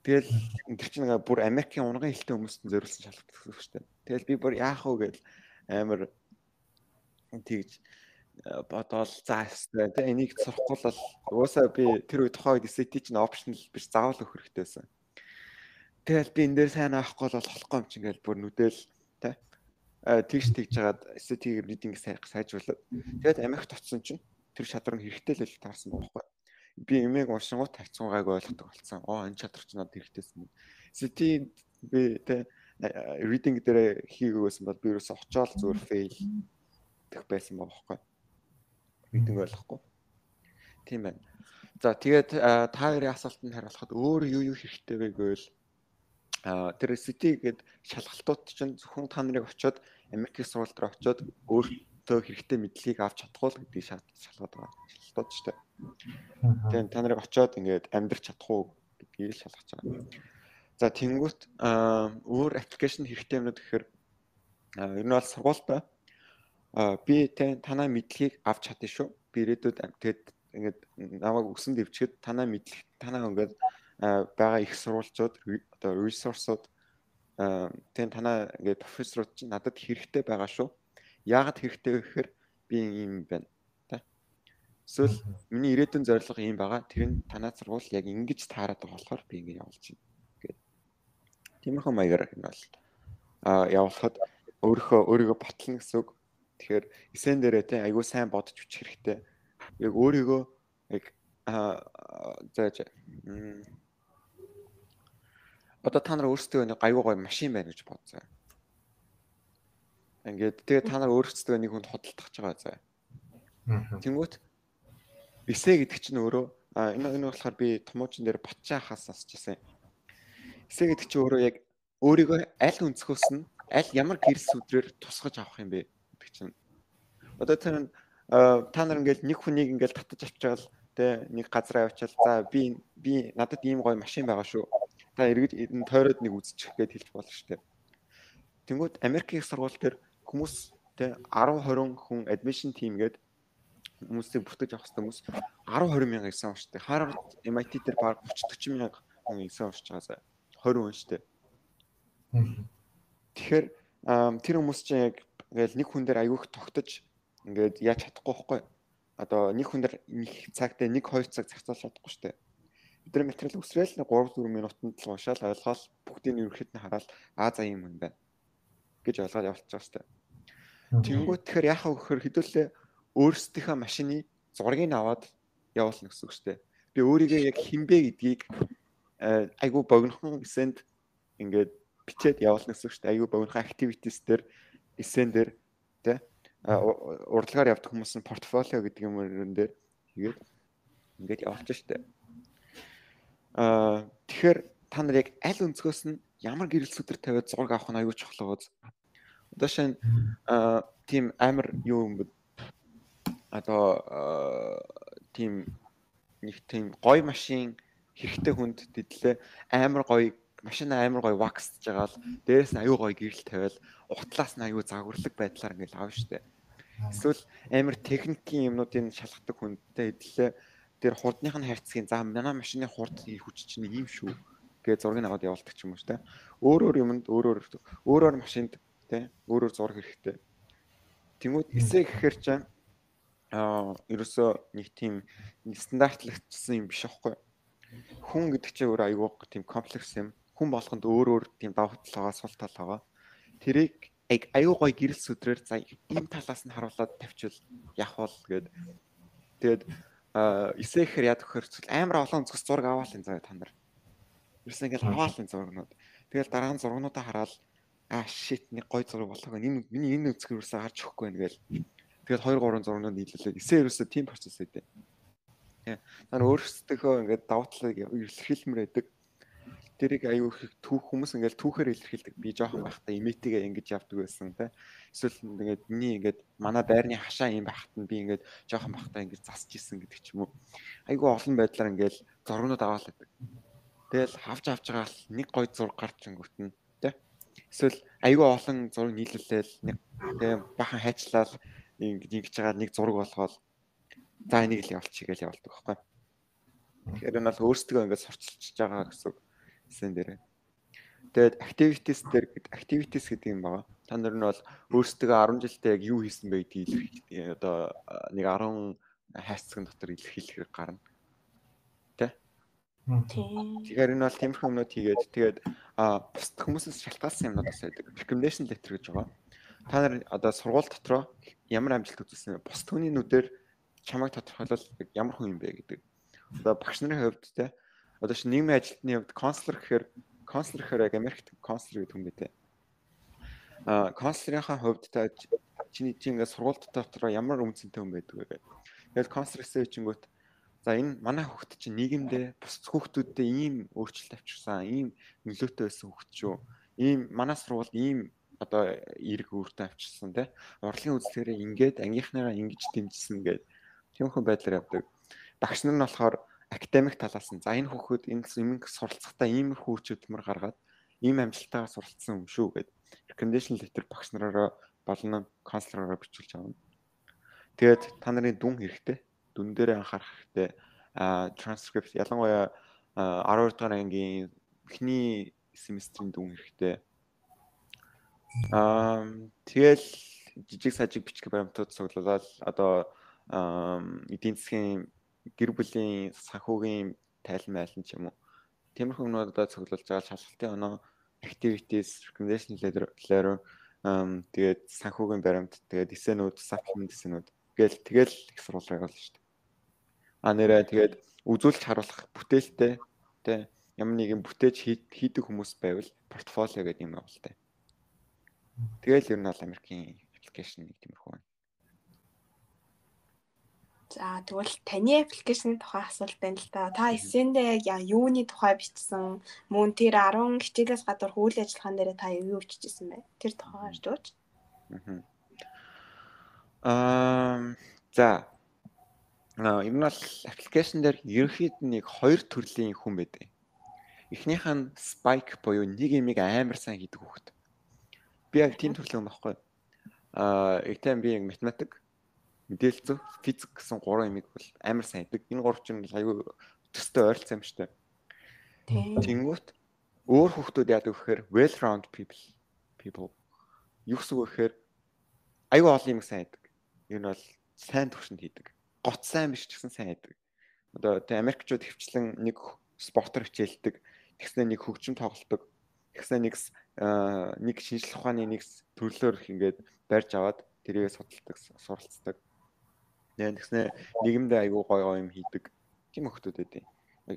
Тэгэл тэр чинь бүр Америкийн унган хэлтэй хүмүүст зориулсан шалгалт гэсэн үг шүү дээ. Тэгэл би бүр яах вэ гэж амар тэгж бодоол заастай. Тэ энийг сурахгүй л уусаа би тэр үед тухайн үед SAT чинь optional биш заавал өгөх хэрэгтэй байсан. Тэгэл би энэ дээр сайн авахгүй бол болохгүй юм чинь ингээл бүр нүдэл тэ тэгж жагаад SAT reading сайжруулаад тэгээд Америкт очсон чинь тэр шадар нь хэрэгтэй л таарсан байхгүй. Би эмээг уншингууд тавьцсан гайг ойлгодог болсон. Энэ шадар ч надад хэрэгтэйсэн. SAT би тэ reading дээр хийгээсэн бол би ерөөсө очиол зүгээр fail гэх байсан байхгүй. Reading ойлгохгүй. Тийм байна. За тэгээд та хоёрын асуултанд хариулахад өөр юу хэрэгтэй вэ гэвэл тэр SAT гээд шалгалтууд чинь зөвхөн та нарыг очиод Америкийн сургууль дээр очиод өөртөө хэрэгтэй мэдлэгийг авч чадахгүй л гэдгийг шалгаад байгаа. Шалгалтууд ч тийм. Тэгээд та нарыг очиод ингээд амьдрах чадах уу гэдгийг л шалгаж байгаа. За тэнгуут өөр аппликейшн хэрэгтэй юмнууд гэхээр ер нь бол сургуультай би танаа мэдлэгийг авч чадна шүү. Би ирээдүйд тэгээд ингээд намайг өсөн дэвчгэд танаа мэдлэг танаа ингээд байгаа их сурвалжууд одоо ресурсууд тэгээд танаа ингээд профессорууд чинь надад хэрэгтэй байгаа шүү. Яагаад хэрэгтэй вэ гэхээр би юм байна. Тэ. Эсвэл миний ирээдүйн зорилго юм байгаа. Тэр нь танаа сургууль яг ингэж таарад байгаа болохоор би ингэ явуулж байна гэдэг. Тиймэрхүү маягаар энэ бол явуулахад өөрийгөө батлна гэсэн үг. Тэгэхээр эсэн дээрээ тэ айгүй сайн бодож бичих хэрэгтэй. Яг өөрийгөө яг зааж одоо та нар өөрсдөө нэг аюу гой машин байна гэж бодцоо. Ингээд тэгээ та нар өөрсдөө нэг хүнд хөдөлтөж байгаа заа. Тэнгүүт эсэ гэдэг чинь өөрөө энэ болохоор би томоочин дээр батчаа хаас асчсан. Эсэ гэдэг чинь өөрөө яг өөрийгөө аль өнцгөөс нь аль ямар гэрэл сүдрээр тусгаж авах юм бэ гэдэг чинь. Одоо та нар ингээд нэг хүнийг ингээд татаж авчаал тэ нэг газар авчаал за би надад ийм гоё машин байгаа шүү. Та эргэж энэ тойроод нэг үзчих гээд хэлж болно шүү дээ. Тэнгүүд Америкийн сургууль дээр хүмүүс тэ 10-20 хүн admission team гээд хүмүүсийг бүртгэж авах хүмүүс 10-20 мянга эсэн уншдаг. Harvard MIT дээр баг 30-40 мянга хүн эсэн уншиж байгаа. 20 хүн шүү дээ. Тэгэхээр тэр хүмүүс чинь яг ингээл нэг хүн дээр аягүй их тогтож ингээд яаж чадахгүй байхгүй. Одоо нэг хүн дээр нэг цагт 1-2 цаг зарцуулж чадахгүй шүү дээ. Бидний материал үсрээл 3-4 минутанд л уншаал ойлгоол бүгдийг нь ерөөхдөө хараад за юм юм байна гэж ойлгоод явуулчих байгаа шүү дээ. Тэнгүүт тэгэхээр яхаа өгөхөр хэдүүлээ өөрсдийнхөө машины зургийг аваад явуулна гэсэн үг шүү дээ. Би өөрийгөө яг хинбэ гэдгийг айгүй богинохон эсэнд ингээд бичээд явуулна гэсэн үг шүү дээ. Айгүй богинохон activities дээр эсэн дээр тэ урдлагаар явдаг хүмүүс нь портфолио гэдэг юм дээр тэгээд ингээд явуулчих шүү дээ. Тэгэхээр та нар яг аль өнцгөөс нь ямар гэрэл сүдэр тавиад зураг авах нь аюул чухал байгаа. Одоо шинэ тийм амар юу юм бэ? Одоо тийм нэг тийм гоё машин хэрэгтэй хүнд дэдлээ амар гоё машин амар гоё ваксж байгаа л дээрээс нь аюул гоё гэрэл тавиал утлаас нь аюул загварлаг байдлаар ингээл авна штэ. Эсвэл амар техникийн юмнуудын шалгадаг хүндтэй дэдлээ тэр хурдных нь хайрцгийн за манай машины хурд хүч чинь ийм шүү гэж зургийг аваад явуулдаг ч юм уу штэ. Өөрөөр юмд өөрөөр машинд тэ өөрөөр зураг хэрэгтэй. Тэнгүүд эсэ гэхээр чинь ерөөсөө нэг тийм стандартлагдсан юм биш аахгүй. хүн гэдэг чинь өөр айгүй тийм комплекс юм. Хүн болгонд өөр тийм давуу тал байгаа, сул тал байгаа. Тэрийг айгүй гоё гэрэл сүдрээр за ийм талаас нь харуулад тавьчвал явах бол гээд тэгээд эсэхээр яд өгөхөр амар олон зүс зураг аваалын заяа та нар. Ерөөс ингээл аваалын зурагнууд. Тэгэл дараа нь зургнуудаа хараад shit нэг гоё зураг болоог миний энэ үзгэрөөсөө харж өгөхгүй байна гээл. Тэгэл 2 3 зургнууд нийлүүлээд эсээ ерөөсөө тийм процесс өгдөө. Тэ. Та өөрсдөө ингээд давуу талыг илэрхийлмээр байдаг. Тэрийг аюу их хүмүүс ингээл түүхээр илэрхийлдэг. Би жоохон байхдаа имитигээ ингэж явдаг байсан тэ. Эсвэл ингээд миний ингээд манай байрны хашаа юм байхад нь би ингээд жоохон байхдаа ингэж засч исэн гэдэг ч юм уу. Айгу олон байдлаар ингээл зургнууд аваалдаг. Тэгэл авч байгаа л нэг гой зураг гарч ингүүт нь тэ. Эсвэл айгу олон зураг нийлүүлээл нэг тэ бахан хайчлал ингэж байгаа нэг зураг болгоод за энийг л явуулчих гээл явуулдаг байхгүй. Тэгэхээр энэ бол өөрсдөө ингээд сурчилж байгаа гэсэн сэн дээр. Тэгээд activities гэдэг юм байгаа. Та нар нь бол өөрсдөө 10 жилдээ яг юу хийсэн бэ гэдгийг илэрхийлдэг. Одоо нэг 10 хайцсан дотор илэрхийлэх гарна. Тэ? Тэгэхээр энэ бол тиймэрхүү юмнууд хийгээд тэгээд бусд хүмүүсээс шалтгаалсан юмнуудаас байдаг. Recommendation letter гэж байгаа. Та нар одоо сургууль дотроо ямар амжилт үзүүлсэн бэ? Бусд хүний нүдээр чамайг тодорхойлол ямар хүн юм бэ гэдэг. Одоо багш нарын хувьд те одоо чи нийгмийн ажилтны хувьд консулер гэхээр яг Америкт консулер гэдэг юм бэ те. Консулерийнхаа хувьд та чиний ингээд сургууль дотроо ямар үнцэнтэй хүн байдаг вэ гэдэг. Тэгээд консулерсээ чингүүт за энэ манай хүүхэд чинь нийгэмдээ бус хүүхдүүддээ ийм өөрчлөлт авчирсан, ийм нөлөөтэй байсан хүүхэд шүү. Ийм манай сургууль ийм одоо эрг үүрэгтэй авчирсан те. Урлагийн үзлэгээрээ ингээд ангийнхнаараа ингэж дэмжсэн гэдэг тиймэрхүү байдлаар явдаг. Багш нар нь болохоор академик талаас нь за энэ хүүхэд энэ юмг суралцахдаа иймэрхүү хүчтэй гаргаад ийм амжилтаагаар суралцсан юм шүү гэдэг. Recommendation letter багш нараараа болон консулераараа бичүүлж авна. Тэгээд та нарын дүн хэрэгтэй. Дүн дээрээ анхаарах хэрэгтэй. Transcript ялангуяа 12 дугаар ангийн эхний семестрийн дүн хэрэгтэй. Тэгэл жижиг сажиг бичих баримтууд цуглуулаад одоо эдийн засгийн гэр бүлийн санхүүгийн тайлмайлан ч юм уу. Тиймэрхүү юмнуудаа цуглуулж байгаа шалгалтын оноо activities, recommendation letter тэгээд санхүүгийн баримт, тэгээд эсэнүүд, supplement эсэнүүд тэгэл их сурвалж байгаа л шүү дээ. Нэрээ тэгээд үзүүлж харуулах бүтээлтэй тэ ямар нэгэн бүтээж хийдэг хүмүүс байвал портфолио гэдэг юм байна л тэ. Тэгэл ер нь бол Америкийн аппликейшн нэг тиймэрхүү байна. За тэгвэл таны аппликейшны тухай асуулт байна л да. Та эссэндээ юуны тухай бичсэн? Мөн тэр 10 хичээлээс гадуур үйл ажиллагаан дээр та юу бичижсэн бэ? Тэр тухайгаар дууч. За ер нь бол аппликейшн дээр ерөнхийд нэг 2 төрлийн хүн байдаг. Эхнийх нь spike буюу нэг юмыг амар сайн хийдэг хүүхэд. Би яг тийм төрлийн хүн байхгүй. Эцэм би математик, мэдээлэл зүйн, физик гэсэн 3 юмыг бол амар сайн хийдэг. Энэ 3 чинь аюу төстэй ойролцоо юм шүү дээ. Тэнгүүт өөр хүүхдүүд яадаг гэхээр well round people. Юу гэсэн үг гэхээр аюу олон юм сайн хийдэг. Энэ бол сайн төвшөнд хийдэг. Гот сайн биш ч гэсэн сайн хийдэг. Одоо тэ Америкчууд хөвчлэн нэг спортоор хичээлдэг, тэгснэ нэг хөгжим тоглолдог, тэгснэ нэг шинжлэх ухааны нэг төрлөөр ингээд барьж аваад тэрийг судалдаг, суралцдаг. Тэгснэ нийгэмдээ аягүй гоё юм хийдэг. Тийм хөлтүүд байдیں۔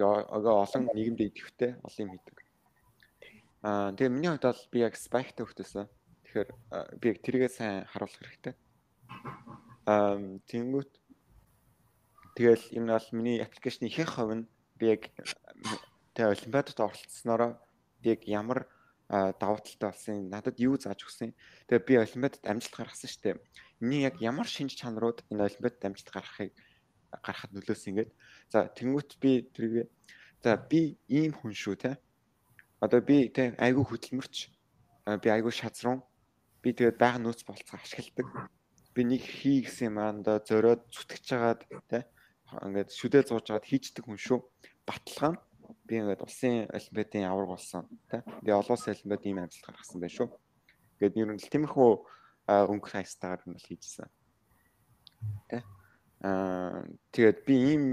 Олон нийгэмдээ идэвхтэй олон юм хийдэг. Тэгээ миний хувьд бол би яг spike-тай хөлтөөсөн. Тэгэхээр би яг тэрийгээ сайн харуулах хэрэгтэй. Тэнгүүт тэгэл энэ бол миний аппликейшны ихэнх хувь нь би яг тэгээ олимпиадад оролцсноороо би яг ямар давуу талтай болсон надад юу зааж өгсөн. Тэгээ би олимпиадад амжилт гаргасан шүү дээ. Миний яг ямар шинж чанарууд энэ олимпиадад амжилт гаргахад нөлөөсөн ингээд. За тэнгүүт би тэргээ за би ийм хүн шүү те. Одоо би тэ айгүй хөдөлмөрч би айгүй шазрун би тэгээд байга нөөц болцоо ашигладаг. Би нэг хий гэсэн юм аа зориод зүтгэж жагаад те ингээд шүдэл зууж жагаад хийждэг хүн шүү. Баталгаа нь би ингээд улсын олимпиадын авраг болсон те. Би олон улсын олимпиад ийм амжилт гаргасан байх шүү. Ингээд ер нь тиймэрхүү өнгөх хайстаагаар нь хийжсэн. Тэ тэгээд би ийм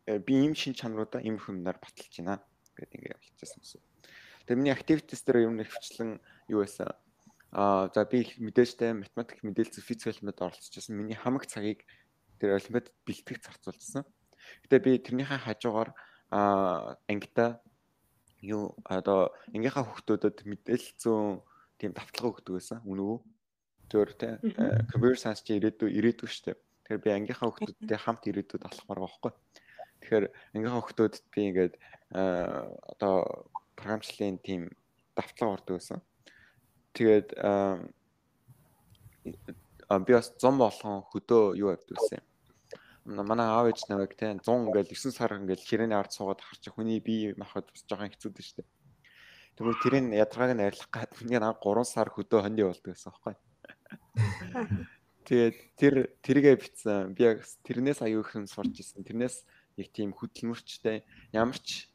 би ийм шин чанаруудаа ийм хүмүүнээр баталж байна гэдэг ингээд болчихсон юм. Тэгээ миний activities дээр юм нэвчлэн юу байсан? За би мэдээжтэй математик, мэдээлэл, физик хэлмэд оролцчихсан. Миний хамаг цагийг тэр олимпиад бэлтгэж зарцуулсан. Гэтэ би тэрнийхээ хажуугаар ангита юу одоо ангийнхаа хүүхдүүдэд мэдээлэл зүүн тийм давталгаа өгдөг байсан. Үнэ үү? Зөвөр тэ computer science чи ирээдүй шүү дээ. Тэгэхээр би ангийнхаа хүүхдүүдтэй хамт ирээдүйд алхмаар байгаа байхгүй. Тэгэхээр ангийнхаа хүүхдүүдэд би ингээд одоо програмчлалын тийм давтлага ордог байсан. Тэгээд би бас 100 болгон хөдөө юу авдаг байсан. Манай аав ээж наваг те 100 ингээл 9 сар ингээл ширээний ард суугаад харчих хүний бие махбод бас жоохон хэцүү дээ шүү дээ. Тэгвэл тэрийн ядаргааг нь арилгах гад миний 3 сар хөдөө хоньны болдог гэсэн байхгүй. Тэгээд тэргээ битсэн. Би яг тэрнээс аюу их юм сурч ирсэн. Тэрнээс яг тийм хөдөлмөрчтэй ямар ч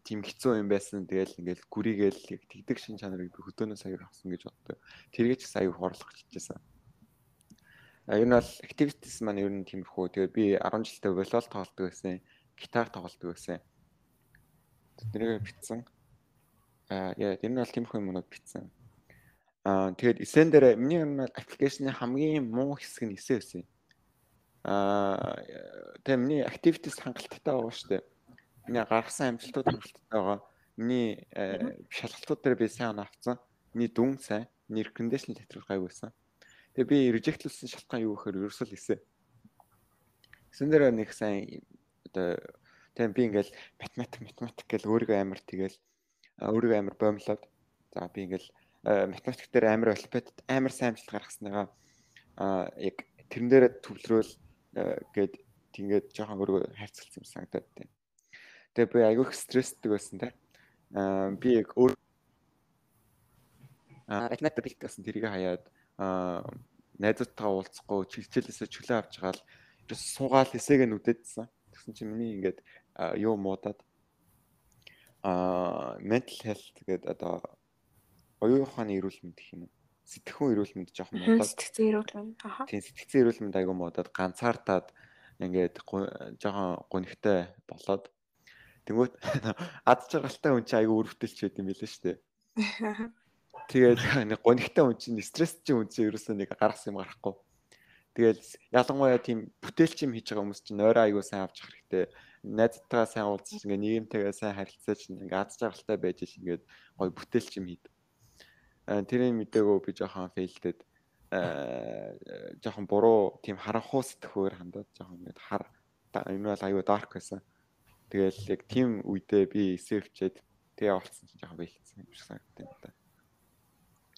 тийм хэцүү юм байсан. Тэгэл ингээл гүрийгээл яг тэгдэг шин чанарыг би хөдөөнөөс аюу авсан гэж боддог. Тэргээ ч гэсэн аюу хорлох чижсэн. Ер нь бол activities маань ер нь тиймэрхүү. Тэгээд би 10 жилдээ волейбол тоглодог байсан, гитар тоглодог байсан. Тэрнийг битсэн. Яа, ер нь бол тиймэрхүү юмнууд битсэн. Тэгээд эсэн дээр миний ер нь аппликейшны хамгийн муу хэсэг нь эсэ байсан. Тэгээд миний activities хангалттай байгаа шүү дээ. Миний гаргасан амжилтууд хангалттай байгаа. Миний шалгалтууд дээр би сайн авцсан. Миний дүн сайн, миний recommendation letter гайг байсан. Тэгээ би rejectlсэн шалтгаан юу гэхээр ерөөсөө л эсэ. Эсэн дээр нэг сайн одоо тийм би ингээл математик гэл өөрийгөө амар тэгэл өөрийгөө амар боомлоод за би ингээл математик дээр амар олимпиадад амар сайн амжилт гаргаснаа яг тэрэн дээрээ төвлөрөөл гээд тэгээд жоохон өөрийгөө хайрцалсан юм санагдаад тийм. Тэгээ би айгүй их стресстэй байсан те. Би яг өөр математик бэлт гэсэн тэрийг хаяад найзуудтайгаа уулзахгүй хичээлээсээ чөлөө авч байгаа л ерөөс суугаал эсэгээ нүдэдсэн. Тэгсэн чинь миний ингээд юу муудаад mental health гэдэг одоо оюун ухааны эрүүл мэнд гэх юм уу? Сэтгэхүйн эрүүл мэнд жоохон муудаад. Сэтгцэн эрүүл мэнд. Тийм сэтгцэн эрүүл мэнд айгүй муудаад ганцаардаад ингээд жоохон гонхтой болоод тэнгүүт ад жаргалтай хүн чинь айгүй өрөвдөлч байд юм билээ шүү дээ. Тэгээд нэг гонхтой хүн чинь стресстэй хүн чинь ерөөсөө нэг гаргасан юм гарахгүй. Тэгээд ялангуяа тийм бүтээлч юм хийж байгаа хүмүүс чинь нойроо айгүй сайн авч явах хэрэгтэй. Найзтайгаа сайн уулзаж ингээ нийгэмтэйгээ сайн харилцаж ингээ ад жаргалтай байж ш ингээд гоё бүтээлч юм хийд. Тэрийг мдэгөө би жоохон фейлдэд жоохон буруу тийм харанхуй сэтгхүүгээр хандаад жоохон ингээд энэ бол айгүй дарк байсан. Тэгэл яг тийм үедээ би эсэвчээд тэгээ олцсон чинь жоохон фейлдсэн юм шиг санагдав юм да.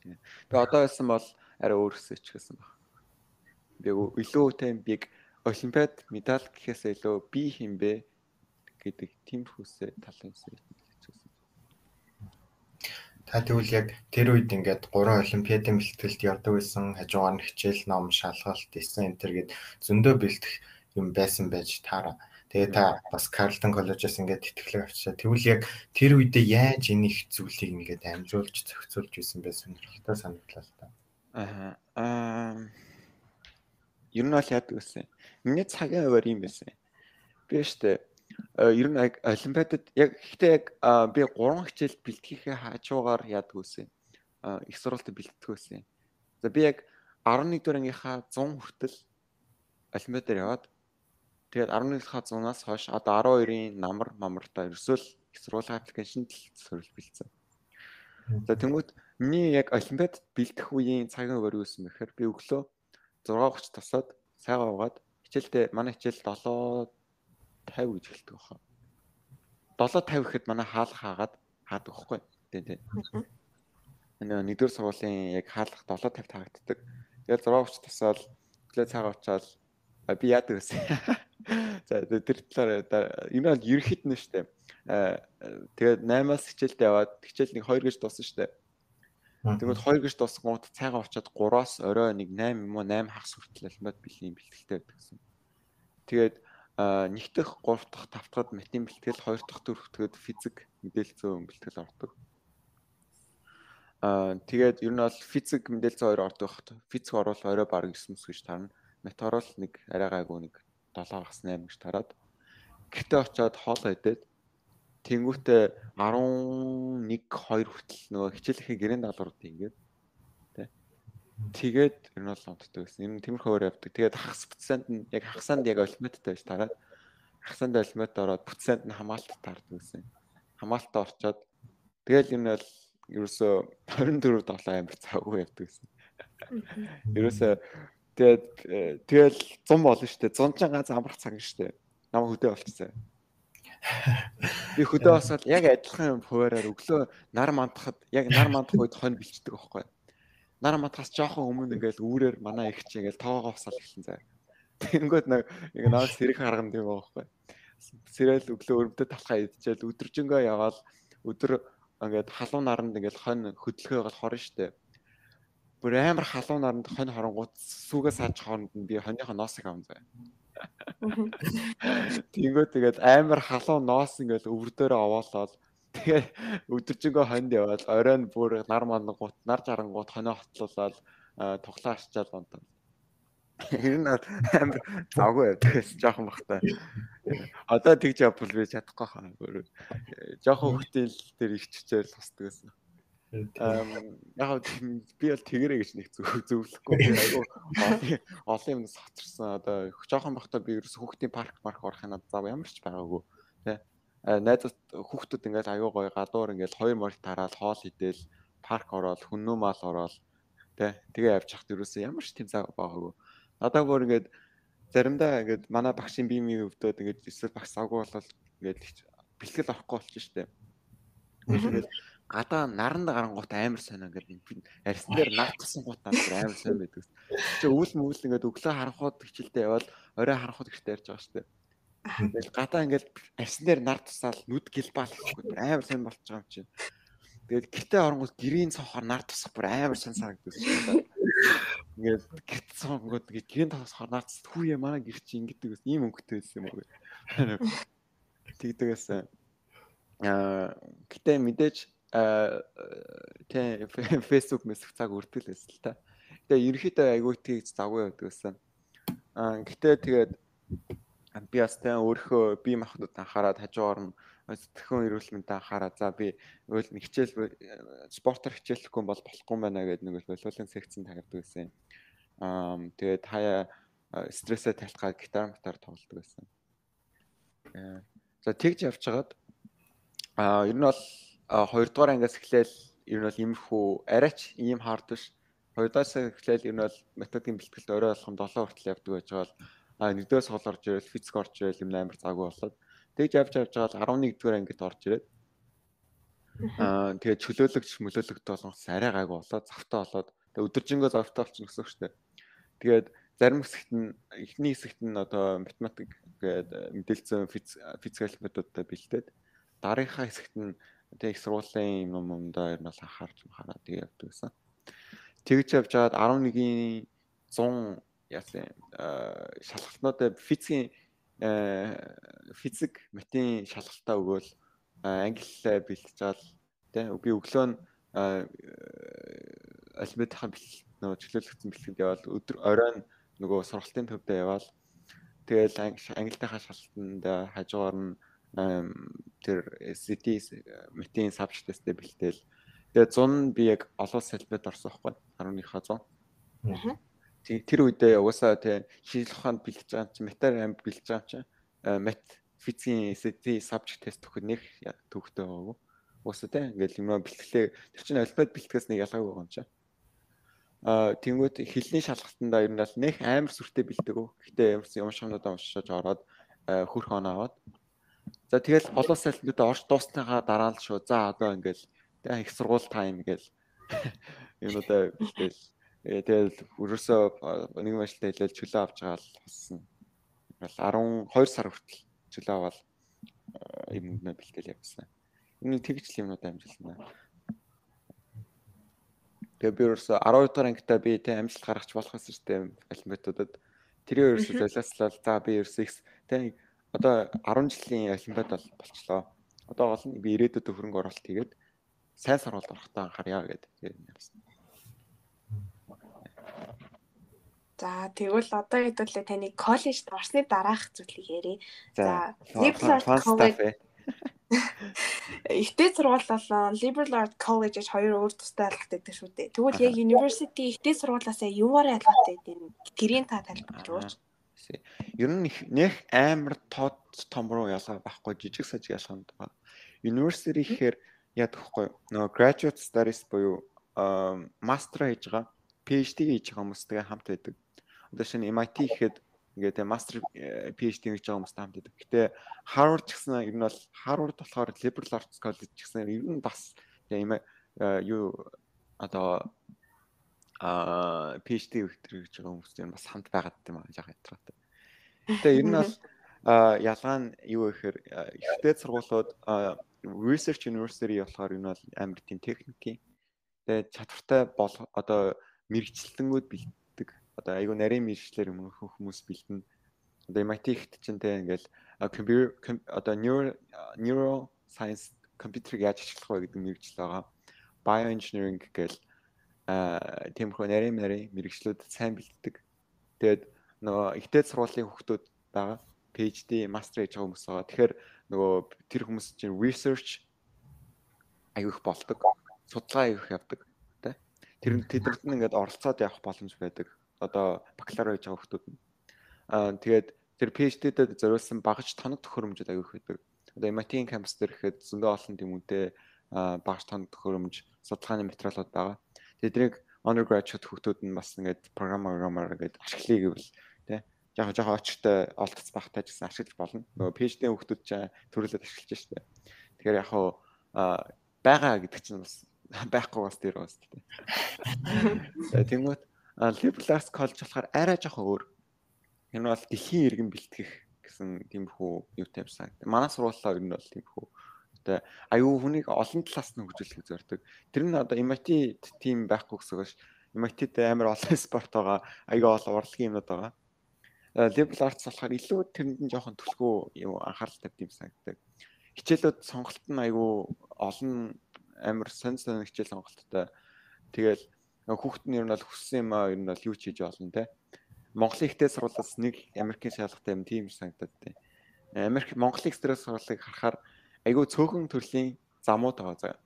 Тэгээ одоо байсан бол арай өөрөөсөө ч гэсэн баг. Би илүү тийм биг олимпиад медаль гэхээс илүү би хинбэ гэдэг тийм хүсээ талын зүйл хэлчихсэн. Та тэгвэл яг тэр үед ингээд 3 олимпиадын бэлтгэлд явдаг байсан, хажуугаар нь хичээл ном, шалгалт, эссэн энтер гээд зөндөө бэлтгэх юм байсан байж таараа. Тэгээ та бас Carleton College-аас ингээд тэтгэлэг авчаа. Тэгвэл яг тэр үедээ яаж энэ их зүйлийг ингээд амжуулж зохицуулж байсан бэ? Сонирхолтой санагдлаа л та. Ер нь бол яадаг гэсэн. Миний цагийн хуваар юм байсан. Би штэ ер нь олимпиадад яг гэхдээ яг би 3 хичээл бэлтгэхээ хажуугаар яадаг гэсэн. Их сурвалжтай бэлтгэх байсан. За би яг 11 дугаар ангийнхаа 100 хүртэл олимпиадаар яваад тэгээд 11-ийнхаа 100-аас хойш одоо 12-ийн намартаа ерөөсөө л их сургуулийн аппликейшнд л сөрөл бэлдсэн. За тэнгуут миний яг олимпиад бэлдэх үеийн цагийн хуваар юу гэсэн бэхээр би өглөө 6:30 тосоод сайгаа угаад хичээлдээ манай хичээл 7:50 гэж хэлдэг баха. 7:50 гэхэд манай хаалга хаагаад хаадаг байхгүй. Тийм. Нэгдүгээр сургуулийн яг хаалга 7:50 таагддаг. Тэгээд 6:30 тосоод өглөө цагаа уучаал би яадаг гэсэн. За тэр талаар энэ бол ерөнхийд нь шүү дээ. Тэгээд 8-аас хичээлд яваад хичээл нэг 2 гэж дууссан шүү дээ. Тэгвэл 2 гэж дуусгууд цайгаа очиад 3-аас орой нэг 8 юм уу 8 хагас хүртэл олимпиад бэлгийн бэлтгэлтэй байдаг гэсэн. Тэгээд 1 дахь 3 дахь 5 дахьд математикийн бэлтгэл 2 дахь дөрөвдөд физик мэдээлэл зүйн бэлтгэл ордог. Тэгээд ер нь бол физик мэдээлэл зүйн 2 ордог багт. Физик орвол орой баг 9 мэс гэж таарна. Мат орвол нэг арай гайгүй нэг 7 хагас 8 гэж тараад. гэртээ очиод хоолоо идээд тэнгүүтээ 11 2 хүртэл нөгөө хичээлийнхээ гэрээний даалгаврууд ингээд тэгээд ер нь бол унтдаг гэсэн. Ер нь тиймэрхүү өөр явдаг. Тэгээд хагас процент нь яг хагасанд яг олимпиадтай байж тараад хагасанд олимпиад ороод процент нь хамаалтад таардаг гэсэн. Хамаалтаа орчоод тэгэл ер нь бол ерөөсөө 24 долоо амир цаагүй явдаг гэсэн. Ерөөсөө тэгэл 100 болно шүү дээ. 100 ганц амрах цаг шүү дээ. Намайг хөдөө болчихсон. Би хөдөө босоод яг адилхан хуваараар өглөө нар мандахад яг нар мандах үед хонь бэлчдэг байхгүй. Нар мандахаас жоохон өмнө ингээл үүрээр манай их чи ингээл тоогоо босаал эхэлсэн заа. Тэнгүүд яг наад сэрэг харган тийм байхгүй. Сэрэл өглөө өрөвдөд талхаа идчихэл өдөржингөө яваал өдөр ингээд халуун наранд ингээл хонь хөдөлгөөгөл хорно штэ. Бүр амар халуун наранд хонь хоронгууд сүүгээс сааж хооронд нь би хоньныхоо ноосыг аван заа. Тэнгүүд тэгээд амар халуун ноос ингээл өвөрдөөрөө овоолоод тэгээ өдөржингөө хонд яваад оройн бүр нар мандангууд нар жарангууд хоноо хотлуулаад туглаа арчаал унтаа. Ер нь амар завгүй байдагс жоохон бахтай. Одоо тэгж явбал би чадахгүй хаа. Жоохон хөтөл дээр иччихэл тусдаг гэсэн. Яг би бол тэгэрэй гэж нэг зөвлөхгүй. Айгу олон юм сатарсан. Одоо жоохон бахтай би ерөөс хүүхдийн парк орох юм зав ямар ч байгаагүй. Тэ. Найзууд хүүхдүүд ингээл аюу гоё гадуур ингээл 2 морь тараал хоол идэл парк ороод хүннүү мал ороод тэгээ явж хахад ерөөсөө ямар ч тийм цаг байгаагүй. Надаа бүр ингээд заримдаа ингээд манай багшийн биемийн өвдөд ингээд эсвэл багш завгүй болол ингээд бэлтгэл авахгүй болчих штеп. Ингээд гадаа наранд гарангуут амар сонио ингээд арьсан дээр нар тасан гутаа амар сонио байдаг. Чи өвөл мөвөл ингээд өглөө харанхууд хичээлдээ явал орой харанхууд гэртээ ярьж байгаа штеп. Тэгэл гадаа ингээд арьсан дээр нар тусаал нүд гэлбаал гэхгүй амар сонь болчих байгаа юм чинь. Тэгээд гэртээ оронгууд гэрийн цонхоор нар тусах бүр амар сонь санагддаг шүү дээ. Ингээд гэрт цонгод ингээд гэрийн цонхоор нар тусах хүүе манай гэр чи ингэдэг ус ийм өнгөтэй байсан юм уу гэх. Тэгдэгээс гэтээ мэдээж Facebook мессеж цаг өртгөл байсан л та. Тэгээ ерөнхийдөө айгүй тийг завгүй байдаг гэсэн. Гэтээ тэгээд би бас өөрөө бие махбодод анхаарад хажуугаар нь сэтгэхүйн эрүүл мэндэд анхаараа. За би өөл хичээл спортоор хичээлэхгүй бол болохгүй байна гэдэг нэг волейболын секцэнд тавьдаг гэсэн. Тэгээд хаяа стрессээ тайлхаад гитар тоглодог байсан. За тэгж явжгаад ер нь бол 2 дугаар ангиас эхлээл ер нь бол иймэрхүү арайч ийм хаард биш. 2 дугаараас эхлээл ер нь бол методикийн бэлтгэлд орой болгон 7 хүртэл явдаг байж байгаа. 1-ээс хол орж ирэл физик орж ирэл юм амар заагүй болоод тэгж явж байгаа 11 дугаар ангид орж ирээд тэгээд чөлөөлөгд болгоос арай гайгүй болоод завтаа болоод тэгээд өдөржингөө завтаа болчихно гэсэн үг шүү дээ. Тэгээд зарим хэсэгт нь эхний хэсэгт нь одоо математик гэдэг мэдээлэл физикал методтой бэлдээд дараагийнхаа хэсэгт нь тэг их сургуулийн юмдаа ер нь бол анхаарч хараад тэг явдаг гэсэн. Тэгж явж байгаад 11-ийн 100 яасан шалгалтнуудад физик математикийн шалгалтаа өгөөл англи бэлтжаал тий би өглөө нь алиментийн нөгөө чөлөөлөгдсөн бэлтгэл яваад өдөр оройн нөгөө сургалтын төвдөө яваал тэгэл англитайхаа шалгалтанд хажуугаар нь тэр SAT математикийн сабжект тесттэй бэлтэл тэгээ 100 би яг олон салбарт орсон байхгүй 11-ийнхаа 100. Тэр үедээ угаасаа тий шинжлэх ухаанд бэлдэж байгаа чинь математик амь бэлдэж байгаа чинь мат физикийн SAT сабжект тест өгөх нэг төвхтэй байгаагүй. Угаасаа тий ингээл юм бэлтгэлээ тэр чинь алфавит бэлтгэс нэг ялгаагүй байгаа юм чинь. Тэнгүүт хэлний шалгалтандаа ер нь л нэг амар сүртэй бэлдэг үү. Гэхдээ ямарсан уншихнуудаа уншиж ороод хөрх оноо аваад. За тэгэл олон салбарт орж дуусныхаа дараа л шүү. За одоо ингээл их сургууль тайм гээл юмудаа бэлтэл. Тэгэл өрөөсөө нэг машинтай хэлэл чөлөө авч байгаа л болсон. Ингээл 12 сар хүртэл чөлөө аваад юмнаа бэлтэл явсан. Энэ тэгж юмнууд амжилтна. Тэгээ би ерөөсө 12 дахь ангитаа би тэ амжилт гаргаж болох систем олимпиадуудад тэрийн ерөөсө залааслал за би ерөөсө тэ одоо 10 жилийн олимпиад болчлоо. Одоо гол нь би ирээдүйд хөрөнгө оруулалт хийгээд сайн сургуульд орохтой анхаарья гэдэг юм явсан. За тэгвэл одоо хэдүүлээ таны коллежд орсны дараах зүйлийг ярив. За Liberal Arts fun College stuff. ихтэй сургууль болон Liberal Arts College гэж хоёр өөр тустай ялгаатай гэдэг шүү дээ. Тэгвэл яг university ихтэй сургуулиасаа юугаар ялгаатай гэдэг нь гэрийн та тайлбарлаж өгөөч. Ер нь нэх амар том руу ялгаа байхгүй жижиг сажиг ялгаанд байгаа. University гэхээр яа гэхгүй нөгөө graduate studies буюу master хийж байгаа, PhD хийж байгаа хүмүүстэй хамт байдаг. Одоо шинэ MIT гэхэд ингээд master PhD хийж байгаа хүмүүстэй хамт байдаг. Гэтэ Harvard ч гэсэн ер нь бол Harvard болохоор Liberal Arts College гэсэн ер нь бас юу одоо PhD өгтөр гэж байгаа хүмүүстэй бас хамт байгаад юм аа яг ятраатай. Гэтэ ер нь бол ялгаа нь юу гэхээр ихтэй сургуулиуд research university болохоор энэ бол амар тийм техникийн тэгээд чадвартай бол одоо мэрэгчлэлтэнгүүд бэлддэг. Одоо айгу нарийн мэрэгчлэр юм хүмүүс бэлдэнэ. Одоо MIT ихт чинь тэ ингээл одоо neuro science компьютерийг яаж ашиглах вэ гэдэг мэрэгжил байгаа. Bioengineering гэл тиймэрхүү нарийн мэрэгчлүүд сайн бэлддэг. Тэгээд нөгөө ихтэй сургуулийн хүүхдүүд байгаа. PhD, master хийж байгаа хүмүүс байгаа. Тэгэхээр нөгөө тэр хүмүүс чинь research аяг их болдог. Судалгаа аяг их явдаг. Тэ? Тэднэрт нь ингээд оролцоод явах боломж байдаг. Одоо бакалавр хийж байгаа хүмүүс нь. Тэгээд тэр PhD-дэд зориулсан багаж тоног төхөөрөмжүүд аяг их байдаг. Одоо MIT-ийн кампус дээр ихэд зөндөө олон тэмүүтэй багаж тоног төхөөрөмж судалгааны материалууд байгаа. Тэднийг undergraduate хүүхдүүд нь бас ингээд программаар ингээд ашиглая гэвэл тэ жоо очтой олдоц багтаа гэсэн ашиглаж болно. Нөгөө PhD-ийн хүүхдүүд ч төрөлөд ашиглаж штэ. Тэгэхээр яг хуу байгаа гэдэг чинь бас байхгүй бас тэр бас тэ. Тэнгүүт Liberal Arts College болохоор арай жоохон өөр. Энэ бол дэлхийн иргэн бэлтгэх гэсэн тиймэрхүү юутай юмсан. Манай сургуулиа ер нь бол тиймэрхүү тэ аюу хүнийг олон талаас нь хөгжүүлэх зорддог. Тэр нь одоо MIT team байхгүй гэсэн үг ш. MIT-д амар олон спорт байгаа, аюу олон урлагийн юмнууд байгаа. Liberal Arts болохоор илүү тэрэнд нь жоохон түлхүү юм анхаарал тавьд юм санагддаг. Хичээлүүд сонголт нь аюу олон амар сонь хичээл сонголттой. Тэгэл хүүхэд нь ер нь бол хүссэн юм аа ер нь бол юу ч хийж болно те. Монголын ихтэй сургуулиас нэг Америкийн шалгалтай юм тийм санагдаад те. Монголын ихтэй сургуулийг харахаар айгүй цөөхөн төрлийн замууд байгаа заа.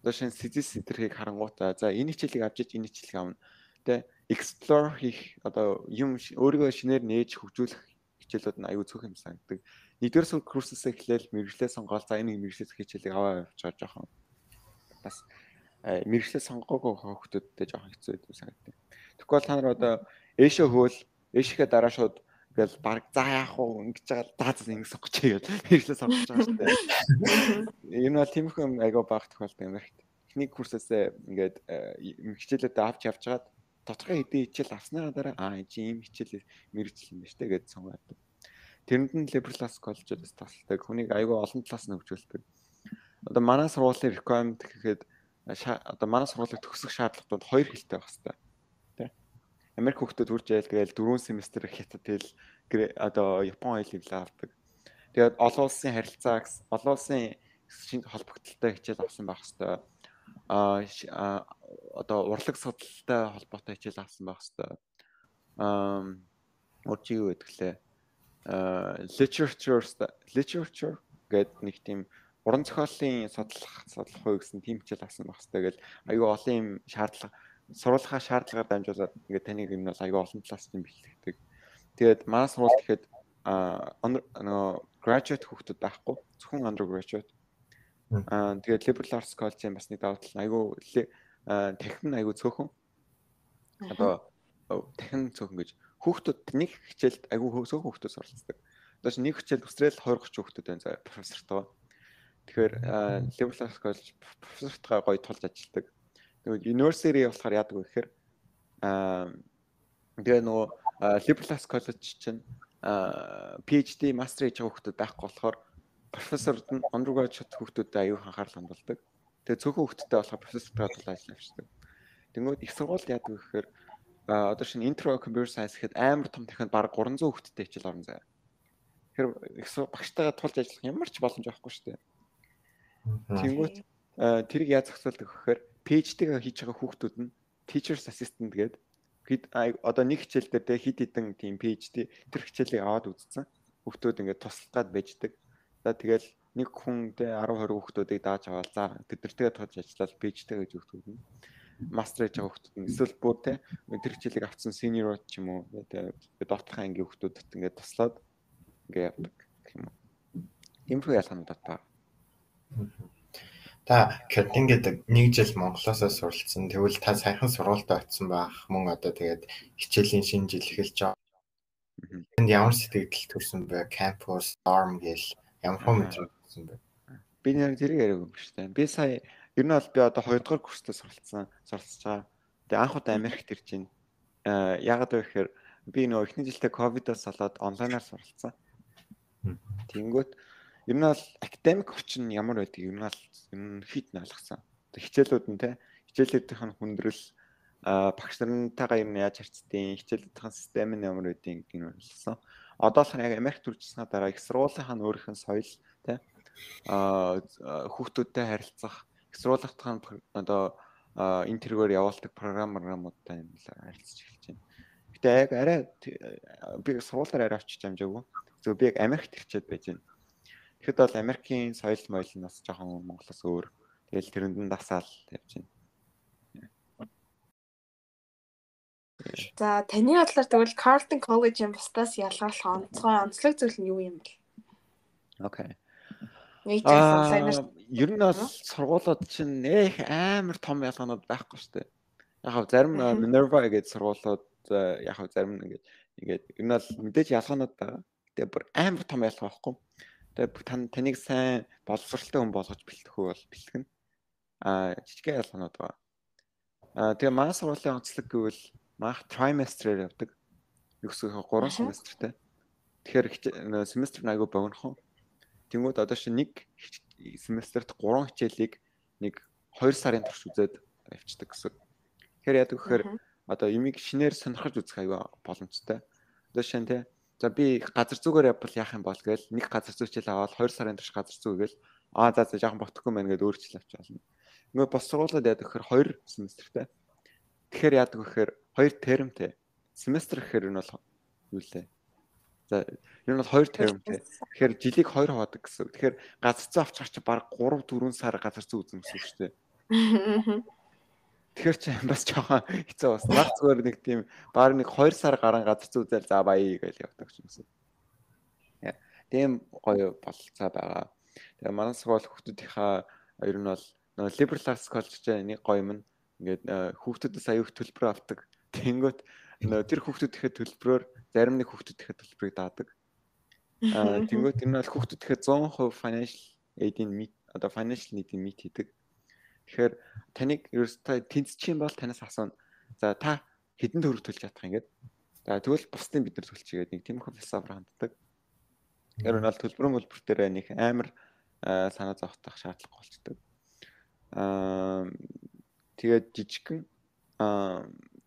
Одоо шинэ сэжис эдэрхийг харангуйтаа за энэ хичээлийг авчиж энэ хичээлийг авна. Тэ explore хийх одоо юм өөрийгөө шинээр нээж хөгжүүлэх хичээлүүд нь айгүй цөөхөн юм санагддаг. Нэгдүгээр курсээс эхлээл мэрэгчлээ сонгоод за энэ мэрэгчлээс хичээлийг аваа явуулж жоохон бас мэрэгчлээ сонгоогүй хүүхдүүдтэй жоохон хэцүү байдаг санагдав. Тэгвэл та нар одоо ээшээ хөөл ээшийнхээ дараа шууд ингээл баг за яах вэ ингэж байгаа за ингэ сонгочихъя гэж мэрэгчлээ сонгож байгаа шүү дээ. Энэ бол тиймэрхүү айгүй баг тохиолдол юм байна. Техник курсээсээ ингээд хичээлүүдээ авч явж хагаад тодорхой хэдийн хичээл авсныгаа дараа энэ ийм хичээл мэрэгжил юм байна штэ гэж сонгоод. Тэрэнд нь Liberal Arts College-оос тасалдаг. Хүнийг айгүй олон талаас нь хөгжүүлдэг. Одоо манай сургуулийн requirement гэхэд одоо манай сургуулийн төгсөх шаардлагатууд хоёр хэлтэй байх хэрэгтэй. Тэ? Америк хүүхдүүд үрж яйл гээл 4 семестр хятад хэл одоо Япон хэлийг л авдаг. Тэгээд олон улсын харилцаа олон улсын холбогдлолтой хичээл авсан байх хэрэгтэй. Одоо урлаг судалтай холбоотой хичээл авсан байх хэрэгтэй. Уржиг юу гэдэг лээ. Literature гэдэг нэг тийм уран зохиолын судлах уу гэсэн тийм хичээл авсан байх хэрэгтэй. Тэгэл аюу олон юм шаардлага сурвалжаа шаардлагаар дамжуулаад ингээд таныг юм бол аюу олон талаас нь бэлтгэдэг. Тэгээд манай сурвалж гэхэд graduate хүүхдүүд байхгүй зөвхөн undergraduate. Тэгээд Liberal Arts College-ийн бас нэг давуу тал нь аюу техник нь аюу цөөхөн. Одоо техник цөөхөн гэж хүүхдүүд нэг хичээлд аюу цөөхөн хүүхдүүд суралцдаг. Одоо нэг хичээлд өсрөөл 20-30 хүүхдүүд байна заа профессортойгоо. Тэгэхээр Liberal Arts College профессортойгоо гоё тулж ажилладаг. Тэгээд university болохоор яадаг вэ гэхээр тэгээ нөгөө Liberal Arts College чинь PhD, master хийж байгаа хүүхдүүд байхгүй болохоор профессорд нь undergraduate хүүхдүүдэд аюу анхаарал хандуулдаг. Тэгээ цөөхөн хүүхдтэй болохоор профессортойгоо тулж ажиллавчдаг. Тэнгүүд их сургууль яадаг вэ гэхээр одоо шинэ intro computer science гэхэд амар том дахиад баг 300 хүүхдтэй хичээл орно заяа. Тэгэхээр их багштайгаа тулж ажиллах ямар ч боломж байхгүй шүү дээ. Тэнгүүд тэрийг яаж зохицуулдаг гэхээр PhD-г хийж байгаа хүүхдүүд нь teacher's assistant гэдэг одоо нэг хичээл дээр те хид хідэн тийм PhD тэр хичээлийг аваад үзсэн. Хүүхдүүд ингээд туслаад байждаг. За тэгэл нэг хүн те 10 20 хүүхдүүдийг дааж аваад за тэдэртэйгээ тохиолж ажиллаад PhD гэж хүүхдүүд нь мастер хийж байгаа хүүхдүүд нь эсвэл бүр те тэр хичээлийг авсан senior ч юм уу те докторийн ангийн хүүхдүүдэд ингээд туслаад ингээд явдаг гэх юм уу. Тиймэрхүү ялгаанууд байна. Та Кертин гэдэг 1 жил Монголоос суралцсан. Тэгвэл та саяхан сургуультай очсон байх мөн одоо тэгээд хичээлийн шинэ жил эхэлж байгаа. Энд ямар сэтгэл төрсөн бэ? Campus, dorm гэл ямар хүмүүс төрсөн бэ? Би нэр зэрэг яриаг юм шүү дээ. Би сая ер нь бол би одоо 2 дугаар курстаа суралцж байгаа. Тэгээ анх удаа Америкт ирж байна. Яагаад вэ гэхээр би нөө эхний жилдээ ковидоос болоод онлайнаар суралцсан. Тэнгүүт ер нь бол академик орчин ямар байдгийг ер нь хит ойлгосон. Хичээлүүд нь те хичээлүүдийн хүндрэл багш нартайгаа ер нь яаж харьцдیں, хичээлүүдийн систем нь ямар байдгийг энэ ойлгосон. Одоо л яг Америкт үржсэнаа дараа их сургуулийнхаа өөрийнх нь соёл те хүүхдүүдтэй харилцах, их сургуулийнхаа одоо энэ тэргээр явуулдаг програмуудтай юм л харилцаж эхэлж байна. Гэтэ яг арай би сургуулиар арай очиж амжаагүй. Зөв би яг Америкт ирчээд байж байна. Тэгэхэд бол Америкийн соёл моёл нь бас жоохон Монголоос өөр. Тэгэл тэрэнд нь дасаал явж байна. За таны бодлоор тэгвэл Carleton College-ийн бусдаас ялгаруулах онцлог зүйл нь юу юм бэ? Окей. Ер нь бол сургуулиуд чинь амар том ялгаанууд байхгүй шүү дээ. Яг зарим Minerva гэдэг сургуулиуд яг зарим ингээд ер нь бол мэдээж ялгаанууд байгаа. Тэгээ бүр амар том ялгаа байхгүй. Тэгээ таныг сайн боловсралтай хүн болгож бэлтгэхүү бол бэлтгэнэ. Жижигхэн ялгаанууд байгаа. Тэгээ манай сургуулийн онцлог гэвэл маах trimester-ээр явдаг. Юусгийнхаа 3 семестртэй. Тэгэхээр семестр айгүй богинохон. Тэнгүүд одоо шинэ нэг семестрт 3 хичээлийг нэг 2 сарын турш үзээд авчдаг гэсэн. Тэгэхээр яадаг гэхээр одоо юмыг шинээр сонирхож үзэх айгүй боломжтой. Одоо шинэ те за би газар зүгээр явбал яах юм бол гээл нэг газар зүй хичээл аваад 2 сарын турш газар зүй гээл за жоохон ботхгүй мэн гээд өөр хичээл авч болно. Ингээ бос сургуулиуд яадаг гэхээр 2 семестртэй. Тэгэхээр яадаг гэхээр 2 термтэй. Семестр гэхээр энэ бол юу лээ? За ер нь бол 2 термтэй. Тэгэхээр жилиг 2 хаваадаг гэсэн. Тэгэхээр газар зүй авч гарч баг 3 4 сар газар зүй үзэн гэсэн үг шүү дээ. Тэгэхээр чи бас жоохон хэцүү бас. Нах зүгээр нэг тийм баг нэг 2 сар гарan газар зүй үзэл за баяа гэж явдаг юм шиг. Тийм гоё болцоо байгаа. Тэгээ манай сургууль хүүхдүүдийнхаа ер нь бол liberal arts college-ийн нэг гоё юм ингээд хүүхдүүдээс аюух төлбөр авдаг. Тэнгөт тэр хүүхдүүдийнхээ төлбөрөөр зарим нэг хүүхдүүдийнхээ төлбөрийг даадаг. Тэнгөт энэ бол хүүхдүүдийнхээ 100% financial aid-ийн одоо financial need-ийн meet хийдэг. Тэгэхээр таныг ерөөсөө тэнцчих юм бол танаас асууна. За та хэдэн төгрөг төлж чадах юм гээд. За тэгвэл бусдын бид нар төлчихгээд нэг тиймэрхүү философиор ханддаг. Тэр нь бол төлбөрөн дээр нэг амар санаа зовтох шаардлага болчдөг. Тэгээд жижигхэн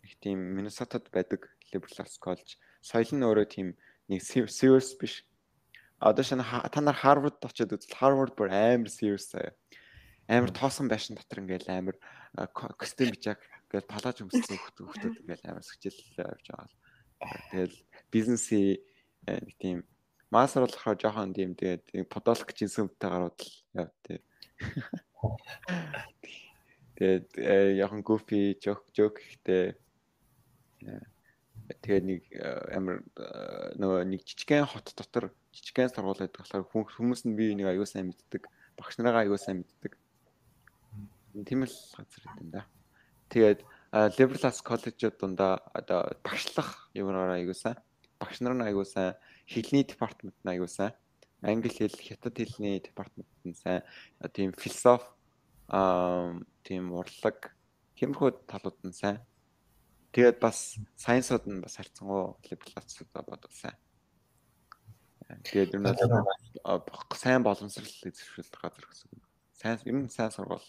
их тийм Миннесотад байдаг liberal arts college соёл нь өөрөө тийм нэг serious биш. Одоо шинэ та нар Harvard очиод үзвэл Harvard бүр амар serious амар тоосон байшин дотор ингээл амар костюм бичаг ингээл палаж өмссөн хүүхдүүд ингээл амар хичээл явж байгаа. Тэгэл бизнесийн нэг тийм мастер болохоор жоохон тийм тэгээд подолк жинсүмтэй гарууд л яв тий. Тэгээд яхан goofy joke ихтэй тэгээд нэг амар нөгөө нэг жижигхэн хот дотор жижигхэн сургууль байдаг болохоор хүмүүс нь би нэг аюу сайн мэддэг, багш нараа аюу сайн мэддэг. Тийм л газар юм да. Тэгээд liberal arts college-ууд дундаа одоо багшлах юмраар аюу сайн, багш нар нь аюу сайн, хэлний департамент нь аюу сайн, англи хэл, хятад хэлний департамент нь сайн, тийм философи тийм урлаг тиймэрхүү талууд нь сайн. Тэгээд бас сайенсууд нь бас харьцангуй liberal arts-уудаа бодвол сайн. Тэгээд ер нь сайн боломжрол эзэмшүүлдэг газар гэсэн. Сайн ер нь сайн сургууль.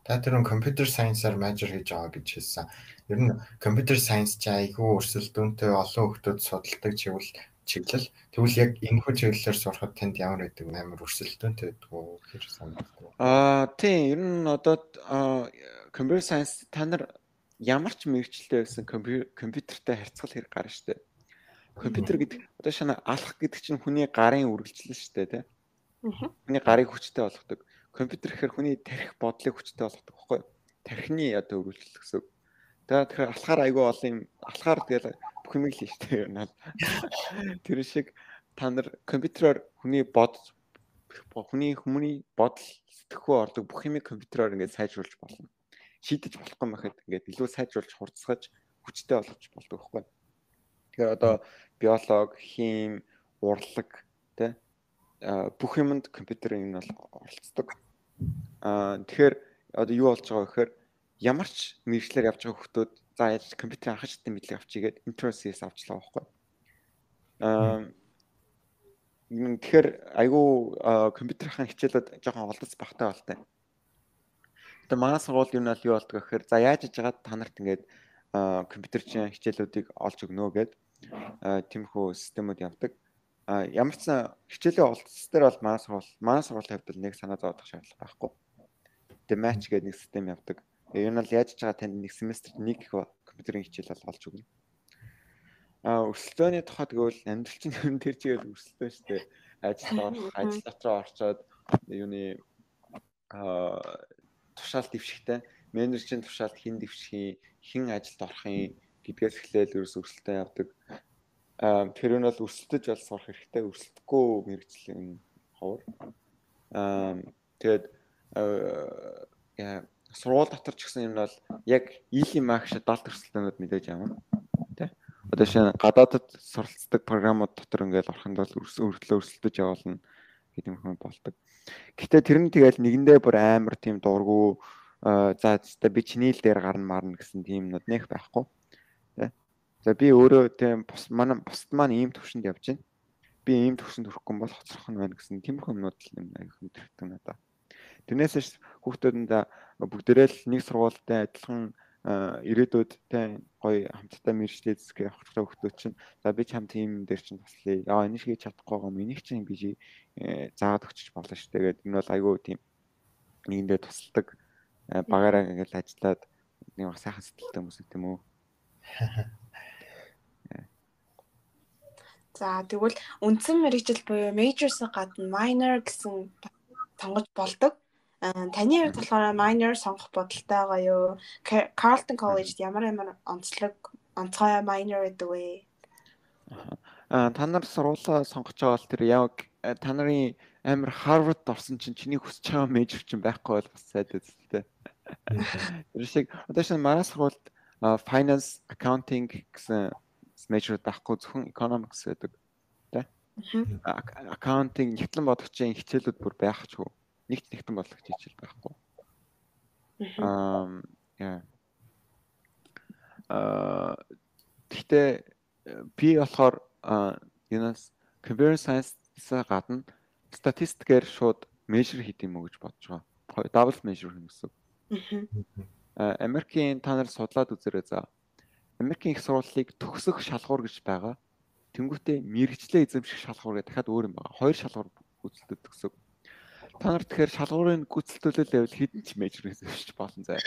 Та тэр computer science-аар major хийж байгаа гэж хэлсэн. Ер нь computer science ч айгүй өрсөлдөөнтэй олон хүмүүс судалдаг чиглэл. Тэгвэл яг энэ хүү чиглэлээр сурахад танд ямар байдаг амар өрсөлдөөнтэй байдаг уу гэж санагдав. Тийм ер нь одоо computer science та нар ямар ч мэрэгчлээ байсан компьютертэй харьцах хэрэг гарна шүү дээ. Компьютер гэдэг одоо шинэ алах гэдэг чинь хүний гарын үргэлжлэл шүү дээ, тий. Хүний гарыг хүчтэй болгодог. Компьютер гэхээр хүний тарих бодлыг хүчтэй болгодог байхгүй юу? Тархины одоо үргэлжлэл гэсэн. Тэгэхээр алхаар айгүй олон юм алхаар тэгэл бүх юм л хийж дээ. Тэр шиг та нар компьютероор хүний бодол сэтгэхүй ордог бүх юмыг компьютероор ингээд сайжруулж болно. Шийдэж болохгүй мэхэд ингээд илүү сайжруулж хурцсаж хүчтэй болгож болдог байхгүй. Тэгэхээр одоо биолог, хим, урлаг тэ бүх юмд компьютерын бол оролцдог. Тэгэхээр одоо юу болж байгаа гэхээр ямар ч мэргэжлэр явж байгаа хүмүүс за яаж компьютерийн анх шатны мэдлэг авчигээд интернетээс авчлаа байхгүй. Тэгэхээр айгүй компьютерийн хичээлүүд жоохон олдоц багтай болтой. Тэгээ манай сургууль юу нь юу болдог гэхээр за яаж хийж байгаа та нарт ингээд компьютерийн хичээлүүдийг олж өгнө гэд тиймэрхүү системүүд явдаг. Ямар ч хичээлийн олдц дээр бол манай сургуулийн хувьд нэг санаа зовоодох шаардлага байхгүй. Тэгээ матч гэдэг нэг систем явдаг. Энэ нь яаж хийж байгаа танд нэг семестрт нэг их компьютерийн хичээл бол олж өгнө. Өрсөлдөөний тухай тэгвэл амьдрал чинь ер нь тэр чигээр өрсөлдөөн шүү дээ. Ажил дотроо орчоод юуны тушаал дэвшихтэй менежерийн тушаалд хэн дэвших хэн ажилд орохын гэдгээс эхлээл ерөөс өрсөлдөөн явдаг. Тэр нь бол өрсөлдөж бол сурах хэрэгтэй. Өрсөлдөхгүй мэргэжлийн ховор. Тэгээд сургууль дотор ч гэсэн юм бол яг ийлийн магш 70 өрсөлдөөнүүд мэдээж явна. Тэ. Одоо шинэ гадаадд суралцдаг програмууд дотор ингээл ороход бол өрсөлдөж явуулна гэдэг юм болдог. Гэхдээ тэр нь тэгэл нэгэндээ бүр амар тийм дургу за би чиний л дээр гарна марна гэсэн тийм нод нэх байхгүй. Тэ. За би өөрөө тийм бусд маань ийм төвшөнд явж байна. Би ийм төвшөнд хүрэхгүй бол хоцрох нь байна гэсэн тиймэрхүү юмнууд л юм аяг хүндэрдэг надаа. Тэрнээс хүүхдүүдэнд бүгдээрээ л нэг сургуультай адилхан ирээдүйдтэй гоё хамтдаа мэргэжлээ зэсгээ явах хүүхдүүд чинь за би ч хамт ийм дээр чинь туслая. Энийг хийж чадахгүй байгаа юм. Энийг чинь би заагаад өгчих болно шүү дээ гэдэг. Энэ бол айгүй тийм нэгэндээ тусалдаг багаараа ингээл ажиллаад нэг сайхан сэтгэлтэй хүмүүс тийм үү. За тэгвэл үндсэн мэргэжил буюу majors-ын гадна minor гэсэн сонгож болдог. Таны хувьд болохоор minor сонгох бодолтой байгаа юу? Carleton College ямар онцгой minor гэдэг вэ? Та нар сургуулаа сонгож байгаа бол тэр яг та нарын амар Harvard орсон чинь чиний хүсэж байгаа major чинь байхгүй бол бас сайд үстэй. Тэр шиг одоо шинэ манай сургуульд finance, accounting гэсэн major байхгүй зөвхөн economics гэдэг. Тэ? Accounting нэгтлэн бодогчийн хичээлүүд бүр байхгүй. Нэгтэн бодлогч хичээл байхгүй. Гэхдээ би болохоор юунаас computer science-аас гадна статистикээр шууд measure хийх юм уу гэж бодож байгаа. Double measure хийх гэсэн. Америкийн та нар судлаад үзээрэй за. Америкийн их сургуулийг төгсөх шалгуур гэж байгаа. Тэнгүүтээ мэргэжлээ эзэмших шалгуур гэдэг дахиад өөр юм байна. Хоёр шалгуур гүйцэлдэг гэсэн. Та нар тэгэхээр шалгуурын гүйцэлдүүлэлт байвал хэдэн ч мейжер эзэмшиж болно заа.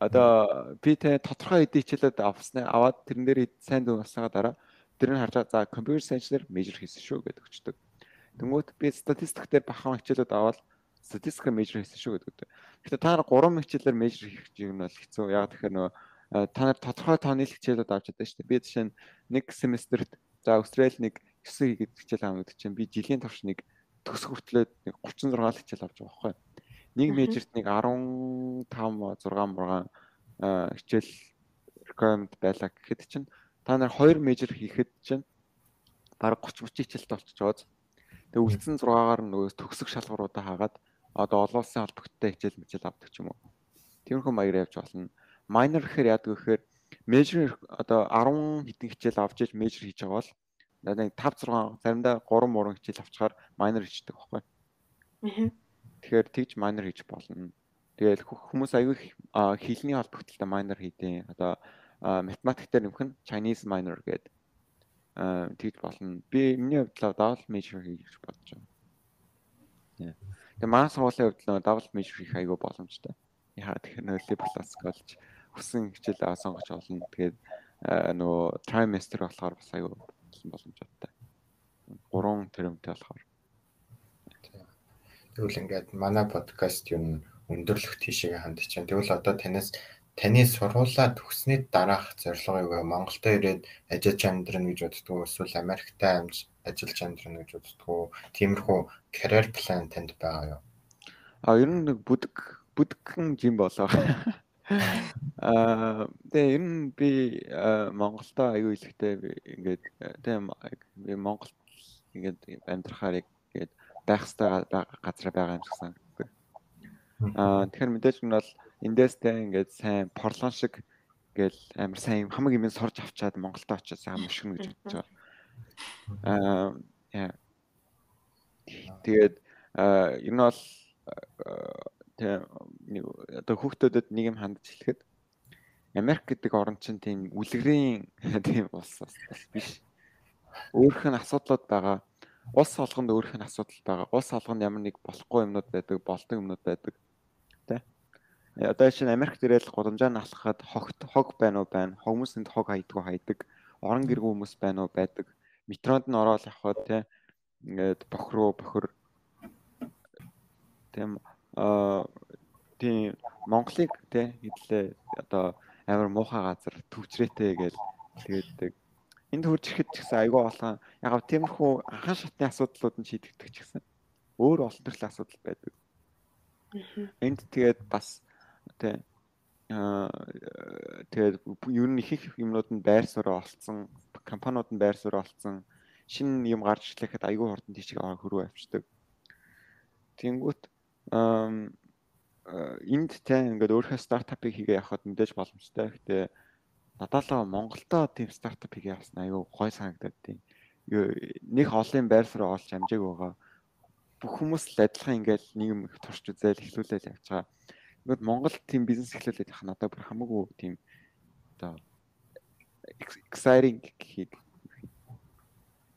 Одоо би тэ тодорхой хэдийн хичээлүүд аваад тэрэн дээр сайн дүн болсныгаа дараа тэр нь харж за компьютер сайенсээр мейжер хийсэн шүү гэдэг өчтөг. Тэнгүүт би статистик дээр бахан хичээлүүд аваад статистикээр мейжер хийсэн шүү гэдэг. Гэхдээ та нар 3 хичээлээр мейжер хийх юм бол хэцүү. Яг тэгэхээр нөгөө та нар тодорхой тооны хичээлүүд авч чадсан шүү дээ. Би жишээ нь нэг семестрт за Австрали нэг 9 гэдэг хичээл авах гэдэг чинь би жилийн турш нэг төгсөх хүртлээр 36 хичээл авч байгаа байхгүй. Нэг мейжерт нэг 15 6 хичээл requirement байлаа гэхэд чинь та нар 2 мейжер хийхэд чинь бараг 30 хичээлтэй болчиход тэгээ үлдсэн 6-аар нөгөө төгсөх шалгууруудаа хаагаад одоо олон улсын холбогдтой хичээл авдаг ч юм уу. Тиймэрхүү маягаар явж болно. Minor гэхээр яадаг гэхээр major одоо 10 хэдэн хичээл авч иж major хийж байгаа бол нэг 5 6 заримдаа 3 3 хичээл авчихаар minor хийдэг байхгүй. Тэгэхээр тэгж minor хийж болно. Тэгэл хүмүүс аягүй хэлний холбогдолтой minor хийдэг. Одоо математик дээр нэмэх нь Chinese minor гэдэг тэгж болно. Би миний хувьд double major хийж бодож байна. Тэгээ манай сургуулийн хувьд double major хийх аягүй боломжтой. яа тэгэхээр нөө liberal arts college хүссэн хичээлээ сонгож олно. Тэгээд нөгөө trimester болохоор бас аюу боломжтой. 3 тэрмтэй болохоор. Тэгвэл ингээд манай подкаст юу өндөрлөх тийшээ хандж байна. Тэгвэл одоо таны сургуулаа төгснөд дараах зорилго юу вэ? Монголд ирээд ажиллаж амьдрах гэж боддгоо эсвэл Америкт ажиллаж амьдрах гэж боддгоо? Тиймэрхүү career plan танд байгаа юу? Ер нь нэг бүдгэн жим болоо. Тэгээ ер нь би Монголдо аюу илэгтэй ингээд тийм би Монголд ингээд амьдрахаар ингээд байх ёстой газар байгаа юм шиг санагддаг. Тэгэхээр мэдээж нь бол эндээстэй ингээд сайн порлон шиг ингээд амар сайн хамаг юм сорж авчаад Монголд очиж сайн мушгина гэж бодож байгаа. Тэгээд ер нь бол одоо хүүхдүүдэд нэг юм хандж хэлэхэд Америк гэдэг орн чинь тийм үлгэрийн тийм улс бас биш. Өөрөх нь асуудлууд байгаа. Улс олгонд өөрөх нь асуудал байгаа. Улс олгонд ямар нэг болохгүй юмнууд байдаг, болдог юмнууд байдаг. Тэ. Одоо чинь Америкт ирээд гудамжаа налхахад хог байна уу байна. Хүмүүсэнд хог hayдаг. Орон гэргүй хүмүүс байна уу байдаг. Метронд нь ороод явхад тэ ингээд бохор тийм Монголыг тэ хэдлээ одоо амар муухай газар төвчрээтэй гэж хэлдэг. Энд хурж ирэхэд ч гэсэн айгүй олон яг тиймэрхүү анхан шатны асуудлууд нь шийдэгдэх ч гэсэн өөр олон төрлийн асуудал байдаг. Энд тэгээд бас тэгээд ер нь их юмнууд нь байр суурь олцсон, компаниуд нь байр суурь олцсон, шинэ юм гарч ирэхэд айгүй хурдан тийшээ хөрвөө авчдаг. Тэнгүүт энд ингээд өөрийнхөө стартапыг хийгээ явахад мэдээж боломжтой. Гэхдээ надaalаа Монголдо тийм стартап хийгээ явсан аюу гой санагдаад тийм. Нэг олон байр суурь олж амжааг байгаа. Бүх хүмүүс л адилхан ингээд нэг юм турш үзэл эхлүүлээд явж байгаа. Ингээд Монгол тийм бизнес эхлүүлээд явах надад бүр хамаагүй тийм одоо exciting гэх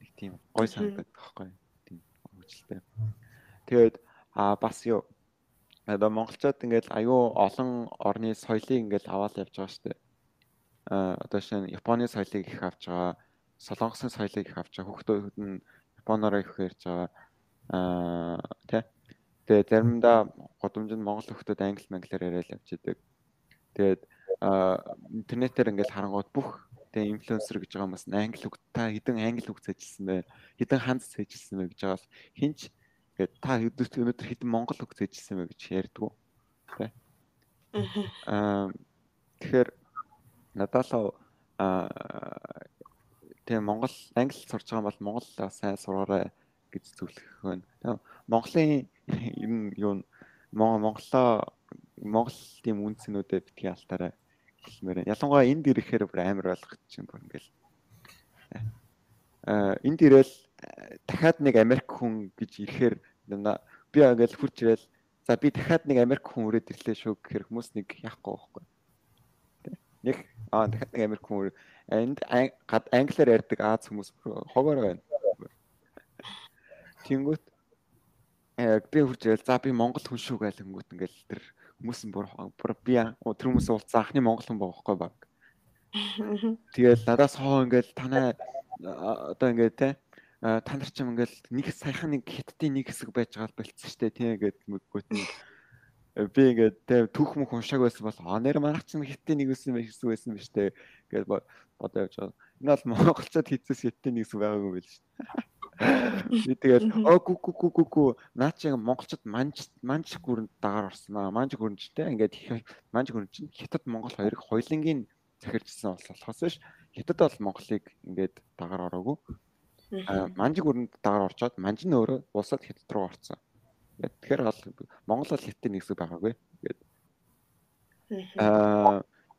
нэг тийм гой санагдаад байхгүй тийм хөвчлөлтэй. Тэгээд бас юу одоо монголчууд ингээд аюу олон орны соёлыг ингээд аваад явж байгаа шүү дээ. Одоо шинэ Японы соёлыг их авч байгаа, Солонгосын соёлыг их авч байгаа, хүүхдүүд нь Японоор их ярьж байгаа. Тэгээд заримдаа годомжинд монгол хүүхдүүд англи манглиар яриад явж идэг. Тэгээд интернетээр ингээд харангууд бүх тэг инфлюенсер гэж байгаа хүмүүс англи үг та хэдэн англи үг цэжилсэн бэ? Хэдэн ханц цэжилсэн бэ гэж байгаас хинч ингээд та өнөөдөр хэдэн монгол үг цэжилсэн бэ гэж ярьдгүү. Тэ. Тэгэхээр надaalаа тэг Монгол англи сурч байгаа бол монголоо сайн сураарай гэж зөвлөх байна. Монголын юу Монгол тийм үнцнүүдэд битгий алтаарай хэлмээр. Ялангуяа энд ирэхээр бүр амар ойлгочих юм бүр ингээл. Энд ирээл дахиад нэг Америк хүн гэж ирэхээр би ингээл хурж ирээл за би дахиад нэг Америк хүн өрөөд ирлээ шүү гэхээр хүмүүс нэг яахгүй байхгүй. Нэг дахиад нэг Америк хүн энд англиар ярьдаг Аз хүмүүс хогоор байна. Тэнгүүт би хурж ирээл за би монгол хүн шүү гээл хөнгөт ингээл тэр хүмүүс нь бүр би тэр хүмүүс уулзсан анхны монгол хүн байгаа байхгүй баг. Тэгэл надаас хоо ингээл танаа одоо ингээд те та нар ч юм ингээл нэг саяхан нэг хиттийн нэг хэсэг байж байгаа болцсон штэ тийм ингээд мөггөт нь би ингээд те түүх мөх уншааг байсан бол нэр манайх ч хиттийн нэг хэсэг байсан биш те гэж бодоо явж байгаа. Энэ бол монголчууд хийцээс хиттийн нэг хэсэг байгаагүй байл штэ. Би тэгэл гү наа чи монголчууд манж гүрэнд дагаар орсон аа. Манж гүрэнчтэй ингээд манж гүрэн чинь хятад монгол хоёрыг хоёулангийн захирчсан болохоос биш хятад бол монголыг ингээд дагаар ороогүй. Манж гүрэнд дагаар орчоод манж нь өөрөө улсад хятад руу орсон. Тэгэхээр бол монгол бол хятадын нэг хэсэг байгаагүй гэдэг.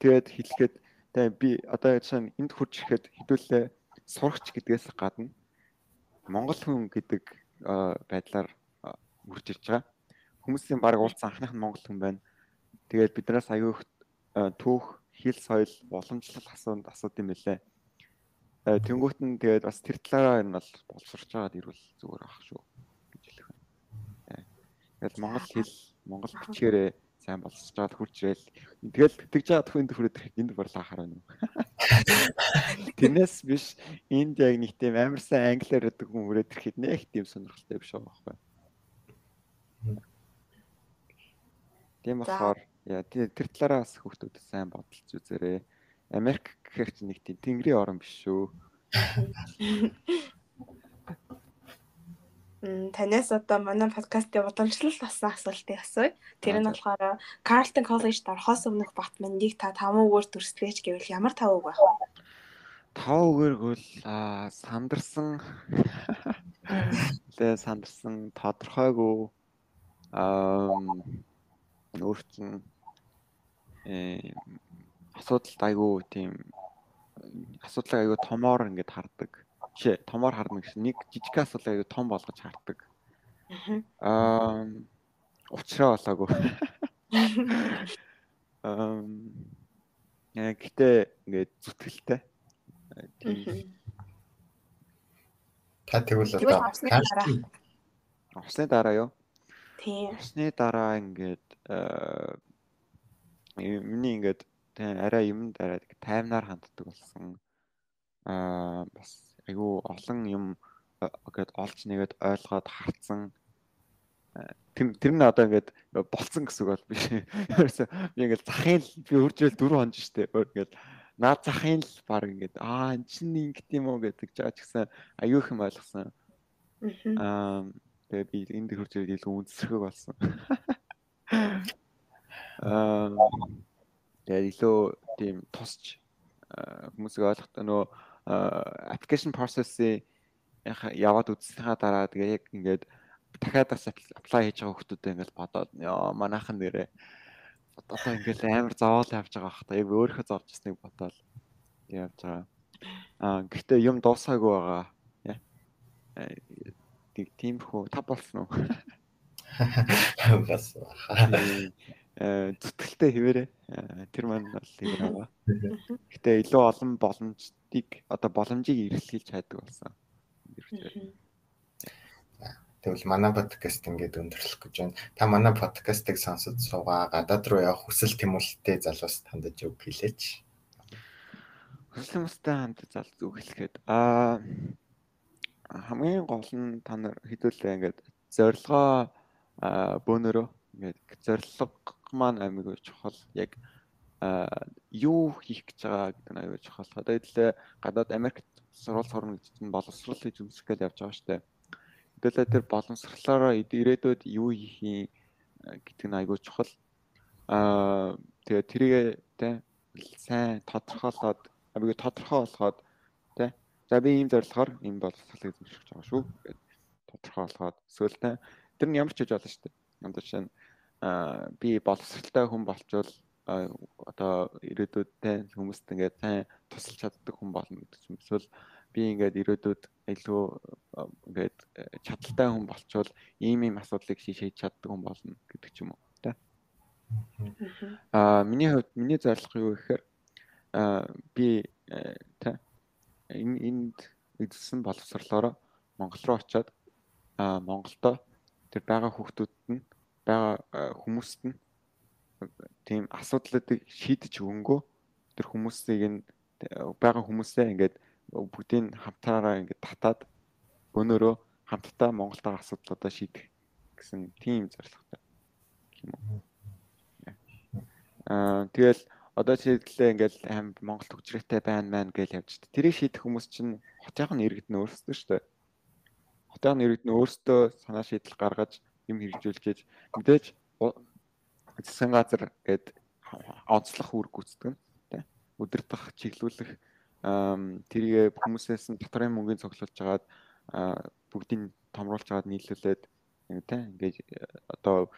Тэгээд хэлэхэд би одоо жишээ нь энд хурж ирэхэд хэдүүлээ сурагч гэдгээс гадна монгол хүн гэдэг байдлаар үрж ирж байгаа. Хүмүүсийн баг уулзсан анхных нь монгол хүн байна. Тэгээд биднээс аягүй түүх, хэл, соёл, уламжлал асууд юм билээ. Тэнгүүт нь тэгээд бас тэр талаараа энэ бол боловсрч байгаад ирвэл зүгээр ах шүү гэж хэлэх байна. Тэгээд монгол хэл, монгол бичгээрээ сайн болсож байгаа хурж ирэл. Тэгэл тэтгэж байгаа хүн төрөд энд борлоо хараа. Тэрнээс биш энд яг нэг тийм амар сайн англиар өгдөг хүн хүрээд ирэхэд нэг тийм сонирхолтой биш байгаа байхгүй. Тийм болохоор яа тэр талаараа бас хүүхдүүд сайн бодолж үзээрэй. Америк гэхэр чинь нэг тийм тэнгэрийн орн биш шүү. Танаас одоо манай подкастын уламжлалт болсон асуултыг асууя. Тэр нь болохоор Carleton College-д орохоос өмнөх бат мандийг та 5 үгээр дүрслэж гэвэл ямар 5 үг байх вэ? 5 үгээр гол сандарсан тэгээ сандарсан тодорхойгүй өөрчлөн асуудалд айгүй тийм асуудлыг айгүй томоор ингээд хардаг. Жишээ томоор харна гэсэн нэг жижиг асуудлыг айгүй том болгож хардаг. Учраа болоогүй. Гэтээ ингээд зүтгэлтэй. Та тэгвэл одоо авсны дараа юу? Тийм. Авсны дараа ингээд миний ингээд арай юмд арай таймнаар ханддаг болсон. Бас айгүй олон юм ингээд олж нэгээд ойлгоод харцсан. Тэр нь одоо ингээд болцсон гэсэн үг бол биш. Ерөөсөө би ингээд захын би үржил 4 хонж штэ. Ингээд наад захын л баг ингээд энэ чинь ингэт юм уу гэдэг жаач гисэн аюу их юм ойлгосон. Тэгээ би энд үржил илүү үнсэрхэг болсон. Тэгээ илүү тийм тусч хүмүүсийг ойлгохтой нөө application process-ийг яваад үзсэнийхаа дараа тэгээ яг ингээд дахиад бас apply хийж байгаа хүмүүстэй ингээд бодоод манайхан нэрээ одоо ингээд амар зовоол явж байгаа бах та яг өөрөө зовж ирснийг бодоод явж байгаа. Гэхдээ юм дуусаагүй байгаа. Тиймэрхүү та болсон уу? Бас зүтгэлтэй хэвээрээ тэр маань бол хэвээр байгаа. Гэтэ илүү олон боломжийг эрэлхийлж хайдаг болсон. Тэгвэл манай подкаст ингээд өндөрлөх гэж байна. Та манай подкастыг сонсож суугаа гадаад руу явах хүсэл тэмүүлэлтэй залуус хандаж өг хэлээч. Хүсэл тэмүүлэлтэй хандаж залуус өг хэлэхэд хамгийн гол нь та нар хэдүүлээ ингээд зорилгоо бөөнөрөө ингээд зорилго маань аймаг чухал яг юу хийх гэж байгаа гэдэг нь аюул чухал. Одоо хэлээ гадаад Америкт сурвалж сурна гэж чинь боловсрол хийж үзэх гэж явж байгаа шүү дээ. Хэдүүлээ тэр боловсролоороо ирээдүйд юу хийх юм гэдэг нь аюул чухал. Тэгээ тэрийг сайн тодорхойлоод аюул тодорхой болгоод за би ийм зорилгоор ийм боловсролыг зөвшөөрч байгаа шүү гэдэг тодорхой болгоод эсвэл тэр нь ямар ч хийж болно шүү дээ. Одоо жишээ нь би боловсралтай хүн болчвол одоо ирээдүйд хүмүүст ингээд сайн тусалж чаддаг хүн болно гэдэг юм. Эсвэл би ингээд ирээдүйд илүү ингээд чадaltaй хүн болчвол ийм асуудлыг шийдэж чаддаг хүн болно гэдэг ч юм уу. Миний хувьд миний зорилго юу гэхээр би энд эзэлсэн боловсролоор Монгол руу очиод Монголдо тэр байгаа хүүхдүүдэд нь байгаа хүмүүст нь тийм асуудлуудыг шийдэж өгөнгөө тэр хүмүүсийг нь байгаа хүмүүсээ ингээд бүгдийг хамтаараа ингээд татаад өнөөрөө хамтдаа Монголтойгоо асуудлуудаа шийдэх гэсэн тийм зорилготой юм уу. Тэгэл одоо жишээлбэл ингээд Монгол төгжрээтэй байна гэж явж та. Тэрийг шийдэх хүмүүс чинь хотынх нь иргэд нь өөрсдөө шүү дээ. Хотынх нь иргэд нь өөрсдөө санаа шийдэл гаргаж юм хэрэгжүүлж мэдээж засгийн газар гээд онцлох үүрэг гүйцэтгэв тийм удирдах чиглүүлэх тэрийг хүмүүсээс нь доторын мөнгөний цуглуулж хагаад бүгдийг томруулж хагаад нийлүүлээд тийм ингээд одоо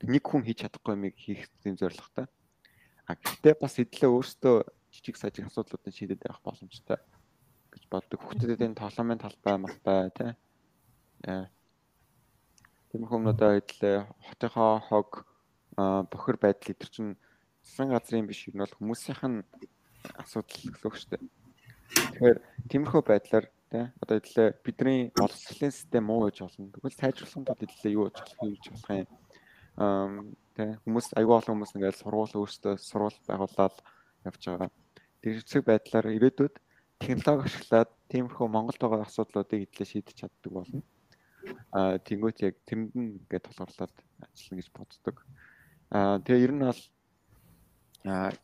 нэг хүн хийж чадахгүй юмыг хийх тийм зорилготой. Гэхдээ бас хэдлээ өөртөө жижиг сажиг асуудлуудыг шийдэж явах боломжтой гэж боддог. Хүүхдүүдийн тоглоомын талбай малбай тийм тийм хүмүүдээ хэдлээ хотынхоо хог бохир байдал идэр чинь засгийн газрын биш юм бол хүмүүсийнх нь асуудал гэсэн үг шүү дээ. Тэгэхээр тиймэрхүү байдлаар тийм одоо хэдлээ бидний боловсролын систем муу гэж болно. Тэгвэл сайжруулахын тулд хэдлээ юу хийж болох юм. Тэ хүмүүс аюул олон хүмүүс ингээд сургууль өөрсдөө сургууль байгуулаад явж байгаа. Тэр хэсэг байдлаар ирээдүйд технологи ашиглаад тиймэрхүү Монголд байгаа асуудлуудыг эдлээ шийдэж чаддаг болно. Тэнгүүт яг тэрэнд нь ингээд толгуурлаад ажиллана гэж боддог. Тэгээ ер нь бол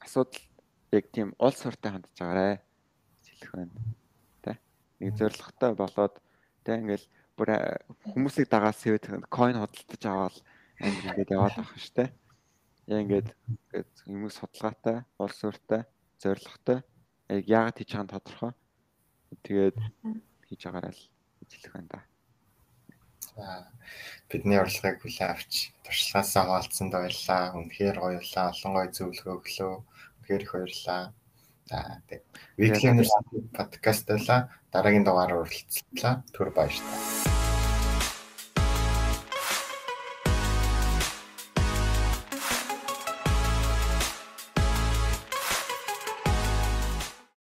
асуудал яг тийм улс ортой хандж байгаарэ гэж хэлэх байна. Тэ нэг зоригтой болоод тэ ингээд бүр хүмүүсийг дагаад сэвэд coin худалдаж аваад амир ингээд яваад байгаа шүү дээ. Яг ингээд хүмүүс судалгаатай, улс ортой, зоригтой яг яагаад хийж байгаа нь тодорхой. Тэгээд хийж байгаарай л гэж хэлэх байна да. Бидний урилгыг хүлээн авч туршлагаасаа хаалцсанд баярлалаа. Үнэхээр гоё боллоо. Олон гоё зөвлөгөө өглөө. Үнэхээр их баярлалаа. Weekly University podcast-aalаа дараагийн дугаараар уулзлаа. Түр баярлалаа.